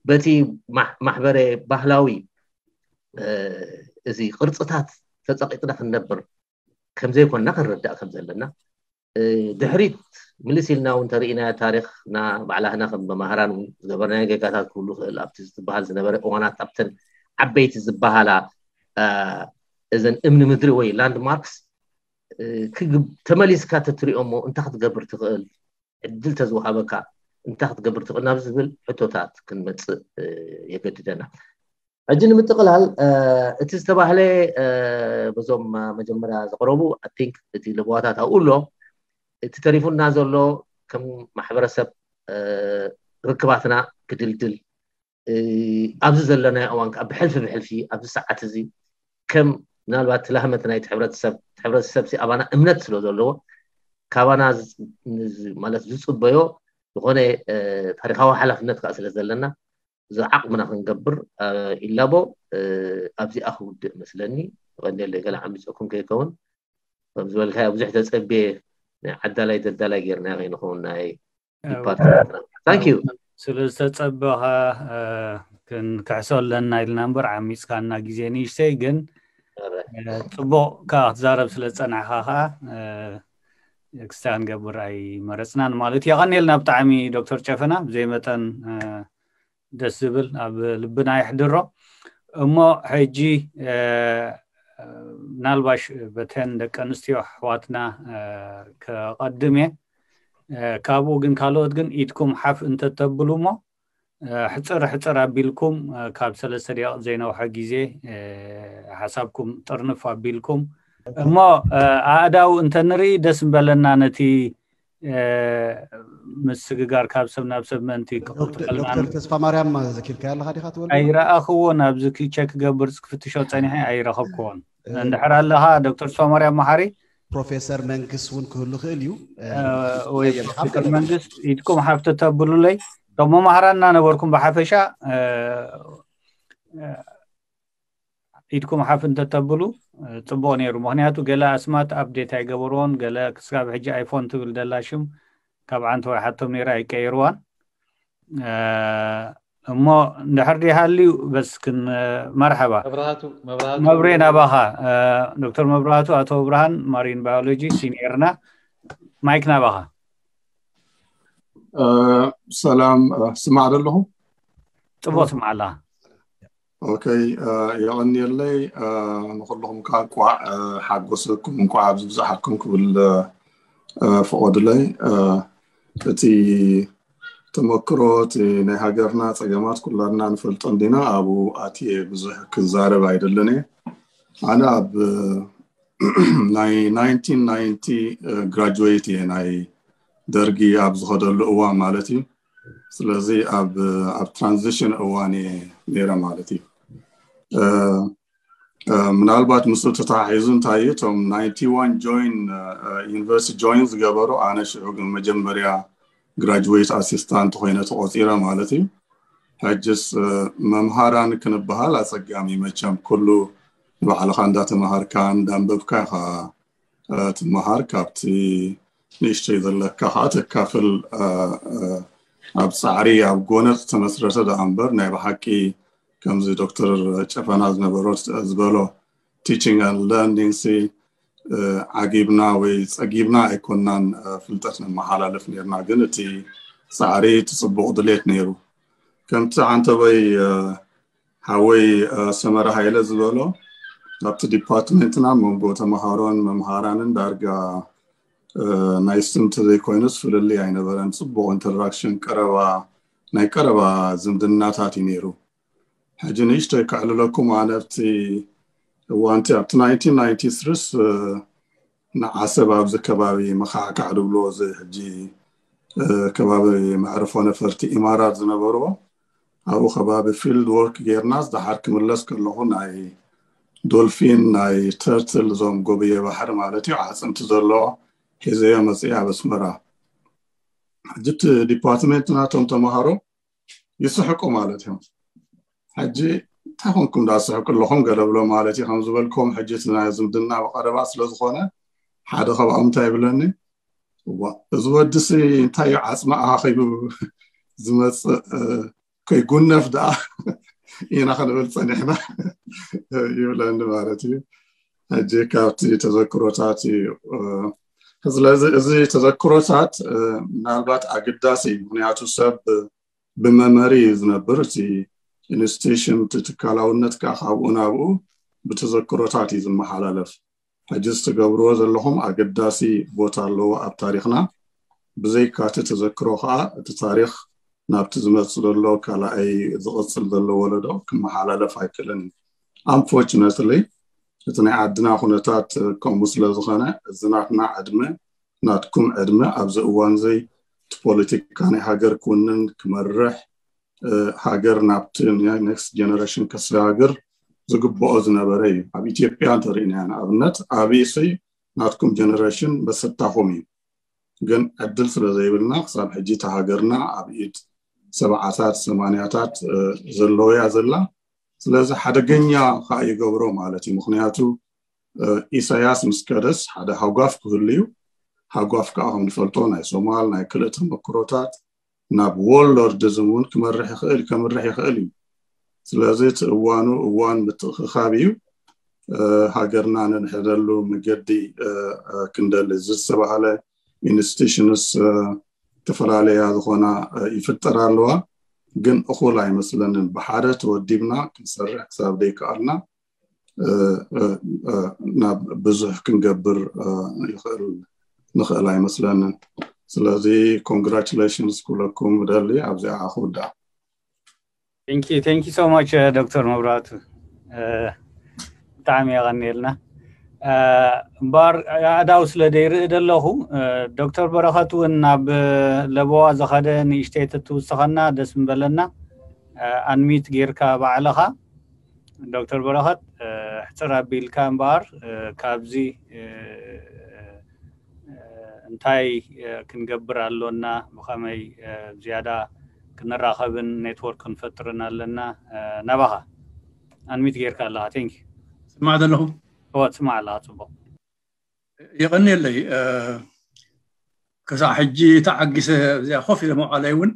በቲ ማሕበረ ባህላዊ እዚ ቅርፅታት ተፀቂጥና ክንነብር ከምዘይኮንና ክንርዳእ ከም ዘለና ድሕሪት ምልስ ኢልና እውን ተርእናዮ ታሪኽና ባዕላህና ከም መማህራን እውን ዝገበርናዮ ጌጋታት ክህሉ ክእል ኣብቲ ዝበሃል ዝነበረ እዋናት ኣብተን ዓበይቲ ዝበሃላ እዘን እምኒ ምድሪ ወይ landmarks ተመሊስካ ተትሪኦ እሞ እንታይ ክትገብር ትኽእል ዕድል ተዝወሃበካ እንታይ ክትገብር ትኽእል ናብ ዝብል ሕቶታት ክንመፅእ የገድደና ሕጂ ንምጥቕላል እቲ ዝተባህለ በዞም መጀመርያ ዝቕረቡ I think እቲ ለበዋታት ኣብኡ ኣሎ እቲ ተሪፉና ዘሎ ከም ማሕበረሰብ ርክባትና ክድልድል ኣብዚ ዘለናዮ እዋን ከዓ ብሕልፊ ብሕልፊ ኣብዚ ሰዓት እዚ ከም ምናልባት ትላህመት ናይቲ ሕብረተሰብ ሕብረተሰብ ኣባና እምነት ስለ ዘለዎ ካባና ማለት ዝፅበዮ ዝኾነ ታሪካዊ ሓላፍነት ከዓ ስለ ዘለና እዚ ዓቕምና ክንገብር ኢላቦ ኣብዚኣ ክውድእ መስለኒ። ቀንደለ ገለ ዓሚፀኩም ከይከውን ከም ዝበልካዮ ብዙሕ ተፀብየ ናይ ዓዳላይ ደዳላይ ጌርና ከይንኸውን ናይ ዲፓርትመንትና። Thank you። ስለ ዝተፀበኻ ክንክሕሶ ኣለና ኢልና እምበር ዓሚፅካና ግዜ ንእሽተይ ግን ፅቡቕ ከዓ ክትዛረብ ስለ ዝፀናሕካ ከዓ ክስታይ ክንገብር ኣይመረፅናን ማለት እዩ። የቐንየልና ብጣዕሚ ዶክተር ጨፈና ብዘይ መጠን ደስ ዝብል ኣብ ልብና ይሕድሮ። እሞ ሕጂ ምናልባሽ በተን ደቂ ኣንስትዮ ኣሕዋትና ከቐድም እየ። ካብኡ ግን ካልኦት ግን ኢድኩም ሓፍ እንተተብሉ እሞ ሕፅር ሕፅር ኣቢልኩም ካብ ሰለስተ ደቂቕ ዘይነውሐ ግዜ ሓሳብኩም ጥርንፍ ኣቢልኩም እሞ ኣእዳው እንተንርኢ ደስ ምበለና ነቲ ምስግጋር ካብ ሰብ ናብ ሰብ ምእንቲ ክቕልጥፈልና። ዶክተር ተስፋ ማርያም ዘኪርካያ ኣለኻ ዲኻ ትበል? ኣይረኣኽዎን፣ ኣብዚ ክ- ቸክ ክገብር ክፍትሾ ፀኒሐ ኣይረኸብክዎን። እንድሕር ኣለኻ ዶክተር ተስፋ ማርያም መሓሪ? ፕሮፌሰር መንግስ እውን ክህሉ ክእል እዩ። ወይ ፕሮፌሰር መንግስ ኢድኩም ሓፍ ተተብሉለይ። እቶም መማህራንና ነበርኩም ብሓፈሻ ኢድኩም ሓፍ እንተተብሉ ፅቡቅ ነይሩ። ምክንያቱ ገለ ኣስማት ኣፕዴት ኣይገበርዎን፣ ገለ ክስጋብ ሕጂ ኣይፎን ትብል ደላ ሽም ካብ ዓንተወይ ሓቶም ነይራ ኣይቀየርዋን። እሞ እንድሕር ዲሃልዩ በስክን መርሐባ መብራህቱ መብራህቱ መብሬ ናባኻ። ዶክተር መብራህቱ ኣቶ ብርሃን ማሪን ባዮሎጂ ሲኒየርና፣ ማይክ ናባኻ። ሰላም፣ ስማዕ ዶ ኣለኹ? ፅቡቅ ስማዕ ኣላ። ኦኬ፣ የቐንየለይ። ንኩልኹም ከዓ እንኳዕ ሓጎሰኩም፣ እንኳዕ ኣብዚ ብዝሓኩም ክብል ፍቐዱለይ። እቲ ተመክሮ፣ እቲ ናይ ሃገርና ፀገማት ኩላትና ንፈልጦ እንዲና፣ ኣብኡ ኣትየ ብዙሕ ክዛረብ ኣይደልን እየ። ኣነ ኣብ ናይ ናይንቲን ናይንቲ ግራጁዌት እየ፣ ናይ ደርጊ ኣብ ዝኸደሉ እዋን ማለት እዩ። ስለዚ ኣብ ኣብ ትራንዚሽን እዋን እየ ነይረ ማለት እዩ። ምናልባት ምስኡ ተተሓሒዙ እንታይ እዩ፣ እቶም ናይንቲ ዋን ጆይን ዩኒቨርሲቲ ጆይን ዝገበሩ፣ ኣነ ሽዑ ግን መጀመርያ ግራጁዌት ኣሲስታንት ኮይነ ተቆፂረ ማለት እዩ። ሕጅስ መምሃራን ክንበሃል ኣፀጋሚ፣ መቸም ኩሉ ንባዕልኻ እንዳተምሃርካ እንዳንበብካ ኢኻ ትምሃር። ካብቲ ንእሽተይ ዘለካ ከዓ ተካፍል። ኣብ ፃዕሪ ኣብ ጎነፅ ተመስረተ ደኣ እምበር ናይ ብሓቂ ከምዚ ዶክተር ጨፈና ዝነበሮ ዝበሎ teaching and learning ሲ ዓጊብና ወይ ፀጊብና ኣይኮናን ፍልጠት ነመሓላልፍ ነርና፣ ግን እቲ ፃዕሪ እቲ ፅቡቕ ድሌት ነይሩ። ከምቲ ዓንተበይ ሓወይ ሰመረ ሃይለ ዝበሎ ኣብቲ ዲፓርትመንትና መንጎ ተምሃሮን መምሃራንን ዳርጋ ናይ ስም ተዘይኮይኑስ ፍልልይ ኣይነበረን። ፅቡቕ ኢንተራክሽን፣ ቀረባ ናይ ቀረባ ዝምድናታት እዩ ነይሩ። ሕጂ ንእሽተይ ከዕልለኩም፣ ኣነ ኣብቲ እዋንቲ ኣብቲ ናይንቲን ናይንቲ ስሪስ ንዓሰብ ኣብዚ ከባቢ መኻዕካዕ ድብሎ እዚ ሕጂ ከባቢ መዕርፎ ነፈርቲ ኢማራት ዝነበርዎ ኣብኡ ከባቢ ፊልድ ወርክ ጌርና ዝደሓር ክምለስ ከለኹ ናይ ዶልፊን ናይ ተርትል እዞም ጎብየ ባሕሪ ማለት እዩ ዓፅምቲ ዘለዎ ሒዘዮ መፅእ ኣብ ኣስመራ። ሕጂ እቲ ዲፓርትመንት ናቶም ተምሃሮ ይስሕቁ ማለት እዮም። ሕጂ እንታይ ኮንኩም ዳስሕቁ ኣለኹም ገለ ብሎ ማለት እዩ። ከም ዝበልኩም ሕጂ እቲ ናይ ዝምድና ብቐረባ ስለ ዝኾነ ሓደ ካብኦም እንታይ ይብለኒ፣ እዋ እዚ ወዲ ሲ እንታይ እዩ ዓፅሚ ኣኻኺቡ ዝመፅእ ከይጉነፍ ደኣ ኢና ክንብል ፀኒሕና ይብለኒ ማለት እዩ። ሕጂ ካብቲ ተዘክሮታት እዩ። ስለዚ እዚ ተዘክሮታት ምናልባት ኣገዳሲ እዩ። ምክንያቱ ሰብ ብመመሪ እዩ ዝነብር። እቲ ኢንስቲቱሽን እቲ ትካላውነት ከዓ ካብኡ ናብኡ ብተዘክሮታት እዩ ዝመሓላለፍ። ሕጂ ዝትገብርዎ ዘለኹም ኣገዳሲ ቦታ ኣለዎ ኣብ ታሪኽና። ብዘይካቲ ተዘክሮ ከዓ እቲ ታሪኽ ናብቲ ዝመፅእ ዘሎ ካልኣይ ዝቕፅል ዘሎ ወለዶ ክመሓላለፍ ኣይክእልን እዩ። Unfortunately እቲ ናይ ዓድና ኩነታት ከምኡ ስለ ዝኾነ እዚ ናትና ዕድመ ናትኩም ዕድመ ኣብዚ እዋን እዚ እቲ ፖለቲካ ናይ ሃገር ክውንን ክመርሕ ሃገር ናብቲ ኔክስት ጀነሬሽን ከሰጋግር ዝግብኦ ዝነበረ እዩ። ኣብ ኢትዮጵያ እንተሪእናዮ ንኣብነት ኣብይሲ ናትኩም ጀነሬሽን መሰታኹም እዩ። ግን ዕድል ስለ ዘይብልና ክሳብ ሕጂ እታ ሃገርና ኣብ ኢድ ሰብዓታት ሰማንያታት ዘለውያ ዘላ። ስለዚ ሓደገኛ ከዓ ይገብሮ ማለት እዩ። ምክንያቱ ኢሳያስ ምስ ከደስ ሓደ ሃጓፍ ክህሉ እዩ። ሃጓፍ ከዓ ከም ንፈልጦ ናይ ሶማል ናይ ክልእ ተመክሮታት ናብ ዎርሎርድዝም እውን ክመርሕ ይኽእል ከምርሕ ይኽእል እዩ። ስለዚ እቲ እዋኑ እዋን ምትእኽኻብ እዩ። ሃገርና ነንሕደሉ መገዲ ክንደሊ እዚ ዝተባሃለ ኢንስቲቱሽንስ ዝተፈላለያ ዝኾና ይፍጠር ኣለዋ። ግን እኹል ኣይመስለንን። ብሓደ ተወዲብና ክንሰርሕ ክሳብ ዘይከኣልና ናብ ብዙሕ ክንገብር ይኽእል ንኽእል ኣይመስለንን። ስለዚ ኮንግራቹሌሽንስ ኩለኩም ደሊ ኣብዚኣ ክውዳእ። Thank you so much ዶክተር መብራቱ፣ ብጣዕሚ የቐንየልና። እምበኣር ኣእዳው ስለ ደይርኢ ዘለኹ፣ ዶክተር በረኸት እውን ናብ ለበዋ ዝኸደ ንእሽተይ ተትውስኸና ደስ ምበለና። ኣንሚት ጌርካ ባዕልኻ ዶክተር በረኸት፣ ሕፅር ኣቢልካ እምበኣር ካብዚ እንታይ ክንገብር ኣሎና፣ ብኸመይ ዝያዳ ክንራኸብን ኔትወርክ ክንፈጥርን ኣለና? ናባኻ ኣንሚት ጌርካ ኣለኻ። ቴንክ ስማዕ ዘለኹ እወ ትስማዕ ኣለኻ። ፅቡቕ የቐንየለይ። ክሳዕ ሕጂ ተዓጊሰ እዚኣ ኮፍ ኢለ መውዓለይ እውን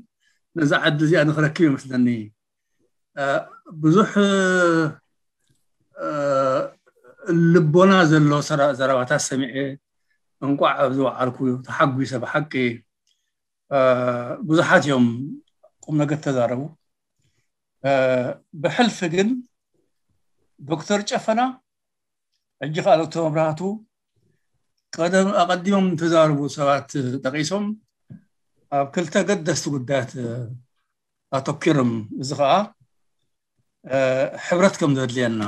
ነዛ ዕድል እዚኣ ንክረክብ ይመስለኒ። ብዙሕ ልቦና ዘሎ ዘረባታት ሰሚዐ እንቋዕ ኣብዚ ወዓልኩ ተሓጒሰ። ብሓቂ ብዙሓት እዮም ቁም ነገር ተዛረቡ። ብሕልፊ ግን ዶክተር ጨፈና ሕጂ ከዓ ዶክተር መብራህቱ ቀደም ኣቐዲሞም ተዛረቡ ሰባት ጠቂሶም ኣብ ክልተ ገደስቲ ጉዳያት ኣተኪሮም፣ እዚ ከዓ ሕብረት ከም ዘድልየና፣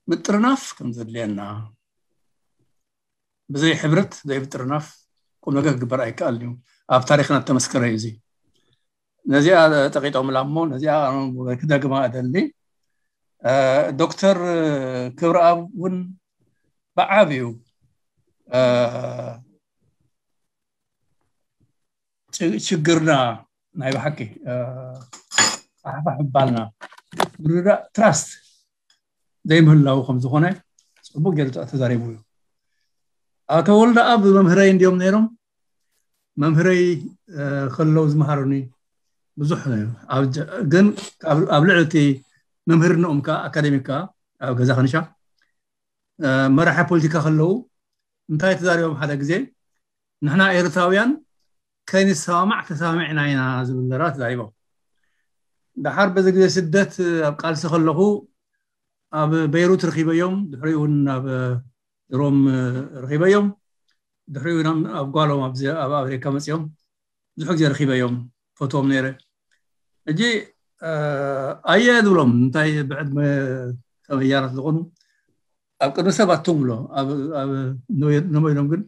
ምጥርናፍ ከም ዘድልየና፣ ብዘይ ሕብረት ዘይ ምጥርናፍ ቁም ነገር ክግበር ኣይከኣልን እዩ። ኣብ ታሪክና እተመስከረ እዩ። እዚ ነዚኣ ጠቂጦምላ እሞ ነዚኣ ክደግማ እደሊ። ዶክተር ክብረኣብ እውን ብዓብዩ ችግርና ናይ ብሓቂ ፋሕፋሕ ምባልና ምርዳእ ትራስት ዘይምህላው ከም ዝኾነ ፅቡቅ ገይሩ ተዛሪቡ እዩ። ኣቶ ወልደኣብ መምህረይ እንዲዮም ነይሮም። መምህረይ ከለው ዝመሃሩኒ ብዙሕ ግን ኣብ ልዕሊ እቲ መምህርነኦም ከዓ ኣካደሚክ ከዓ ኣብ ገዛ ከንሻ መራሒ ፖለቲካ ከለው እንታይ ተዛሪቦም ሓደ ግዜ ንሕና ኤርትራውያን ከይንሰማማዕ ተሰማሚዕና ኢና ዝብል ዘረባ ተዛሪቦም። ደሓር በዚ ግዜ ስደት ኣብ ቃልሲ ከለኹ ኣብ በይሩት ረኺበዮም፣ ድሕሪኡ እውን ኣብ ሮም ረኺበዮም፣ ድሕሪኡ ኣብ ጓሎም ኣብ ኣሜሪካ መፅኦም ብዙሕ ግዜ ረኺበዮም ፈትዎም ነይረ። ሕጂ ኣየ ዝብሎም እንታይ ብዕድመ ተመያራት ዝኾኑ ኣብ ቅድሚ ሰብ ኣቶም ብሎ ነመይኖም ግን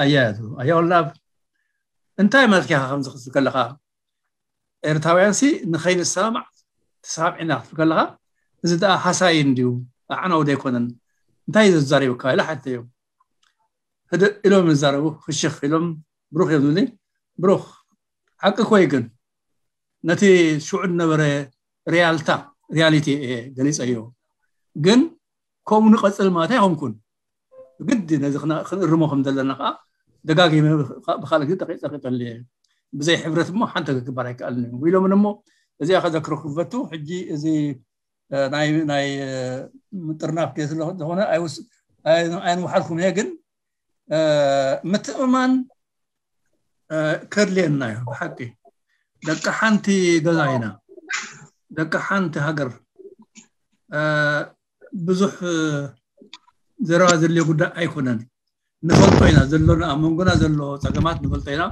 ኣያ ዝብሎ ኣያ ወላብ እንታይ ማለት ካ ከምዚ ክትብል ከለካ ኤርትራውያን ሲ ንኸይንሰማማዕ ተሰማሚዕና ክትብል ከለካ እዚ ደኣ ሃሳይ እንድዩ ኣዕናዊ ዘይኮነን እንታይ እዩ ዘዛሪብካ ኢለ ሓተዮም። ህድእ ኢሎም ይዛረቡ። ክሽኽ ኢሎም ብሩኽ እዮም ዝብሉኒ። ብሩኽ ሓቂ ኮይ ግን ነቲ ሽዑ ዝነበረ ሪያልታ ሪያሊቲ እየ ገሊፀዮ። ግን ከምኡ ንቐፅል ማለት ኣይኮንኩን። ግዲ ነዚ ክንእርሞ ከም ዘለና ከዓ ደጋጊመ ብካልእ ግዜ ጠቂጠልየ። ብዘይ ሕብረት እሞ ሓንቲ ክግበር ኣይከኣልን እዩ ኢሎምን እሞ እዚኣ ከዘክሮ ክፈቱ። ሕጂ እዚ ናይ ናይ ምጥርናፍ ስለ ዝኾነ ኣይንውሓልኩም እየ። ግን ምትእምማን ከድልየና እዩ ብሓቂ። ደቂ ሓንቲ ገዛ ኢና፣ ደቂ ሓንቲ ሃገር። ብዙሕ ዘረባ ዘድልዮ ጉዳይ ኣይኮነን። ንፈልጦ ኢና ዘሎና ኣብ መንጎና ዘሎ ፀገማት ንፈልጦ ኢና።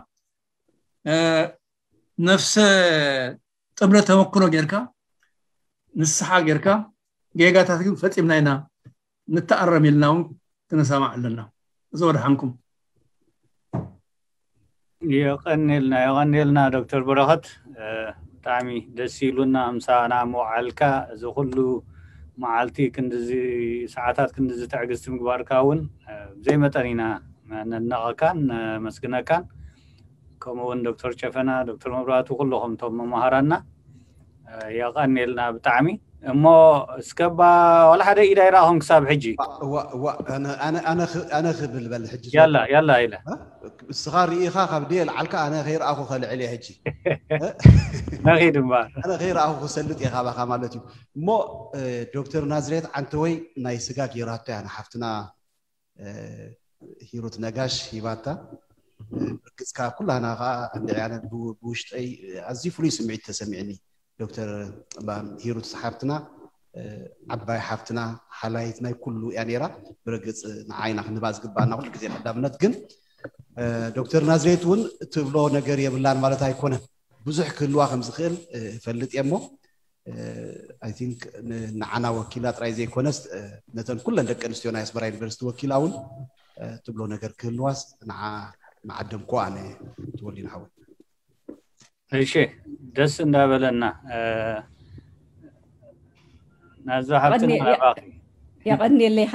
ነፍሰ ጥምረ ተመክሮ ጌርካ ንስሓ ጌርካ ጌጋታት ግን ፈፂምና ኢና ንተኣረም ኢልና እውን ክንሰማዕ ኣለና። እዚ ወድሓንኩም። የቐንየልና የቐንየልና ዶክተር በረኸት። ብጣዕሚ ደስ ኢሉና ምሳና ምውዓልካ፣ እዚ ኩሉ መዓልቲ ክንድዚ ሰዓታት ክንድዚ ትዕግስቲ ምግባርካ እውን ብዘይ መጠን ኢና ነድነቐካን ነመስግነካን። ከምኡ እውን ዶክተር ጨፈና፣ ዶክተር መብራቱ፣ ኩልኹም እቶም መማሃራና የቐንየልና ብጣዕሚ። እሞ እስከባ ዋላ ሓደ ኢድ ኣይረኣኹን ክሳብ ሕጂ። እዋ እዋ ኣነ ኣነ ኣነ ኽ- ኣነ ክብል በል ሕጂ ያላ ያላ ኢለ እስኻ ርኢኻ ካብ ድየ ልዓልካ ኣነ ከይረኣኹ ከልዕል እየ ሕጂ። ነኺድ እምበር ኣነ ከይረኣኹ ክሰልጥ እየ ካባኻ ማለት እዩ። እሞ እ፣ ዶክተር ናዝሬት ዓንተወይ ናይ ስጋ ጌራቶ እያ ንሓፍትና እ፣ ሂሩት ነጋሽ ሂባታ። እ፣ ብርግጽካ ኩላና ከዓ እንድዒ ኣነ ብ- ብውሽጠይ ኣዝዩ ፍሉይ ስምዒት ተሰሚዕኒ። ዶክተር ባ- ሂሩት ሓፍትና እ፣ ዓባይ ሓፍትና ሓላይት ናይ ኩሉ እያ ነይራ። ብርግጽ ንዓይና ክንህባ ዝግባኣና ኩሉ ግዜ ቀዳምነት ግን እ፣ ዶክተር ናዝሬት እውን ትብሎ ነገር የብላን ማለት ኣይኮነን። ብዙሕ ክህልዋ ከም ዝኽእል እ፣ እፈልጥ እየ እሞ I think ንዓና ወኪላ ጥራይ ዘይኮነስ ነተን ኩለን ደቂ ኣንስትዮ ናይ ኣስመራ ዩኒቨርሲቲ ወኪላ እውን ትብሎ ነገር ክህልዋስ ንዓደምኮ ኣነ ትወሊን ሓወይ። እሺ፣ ደስ እንዳበለና ናዛ ሓብትና ናባኺ። የቐንየለይ።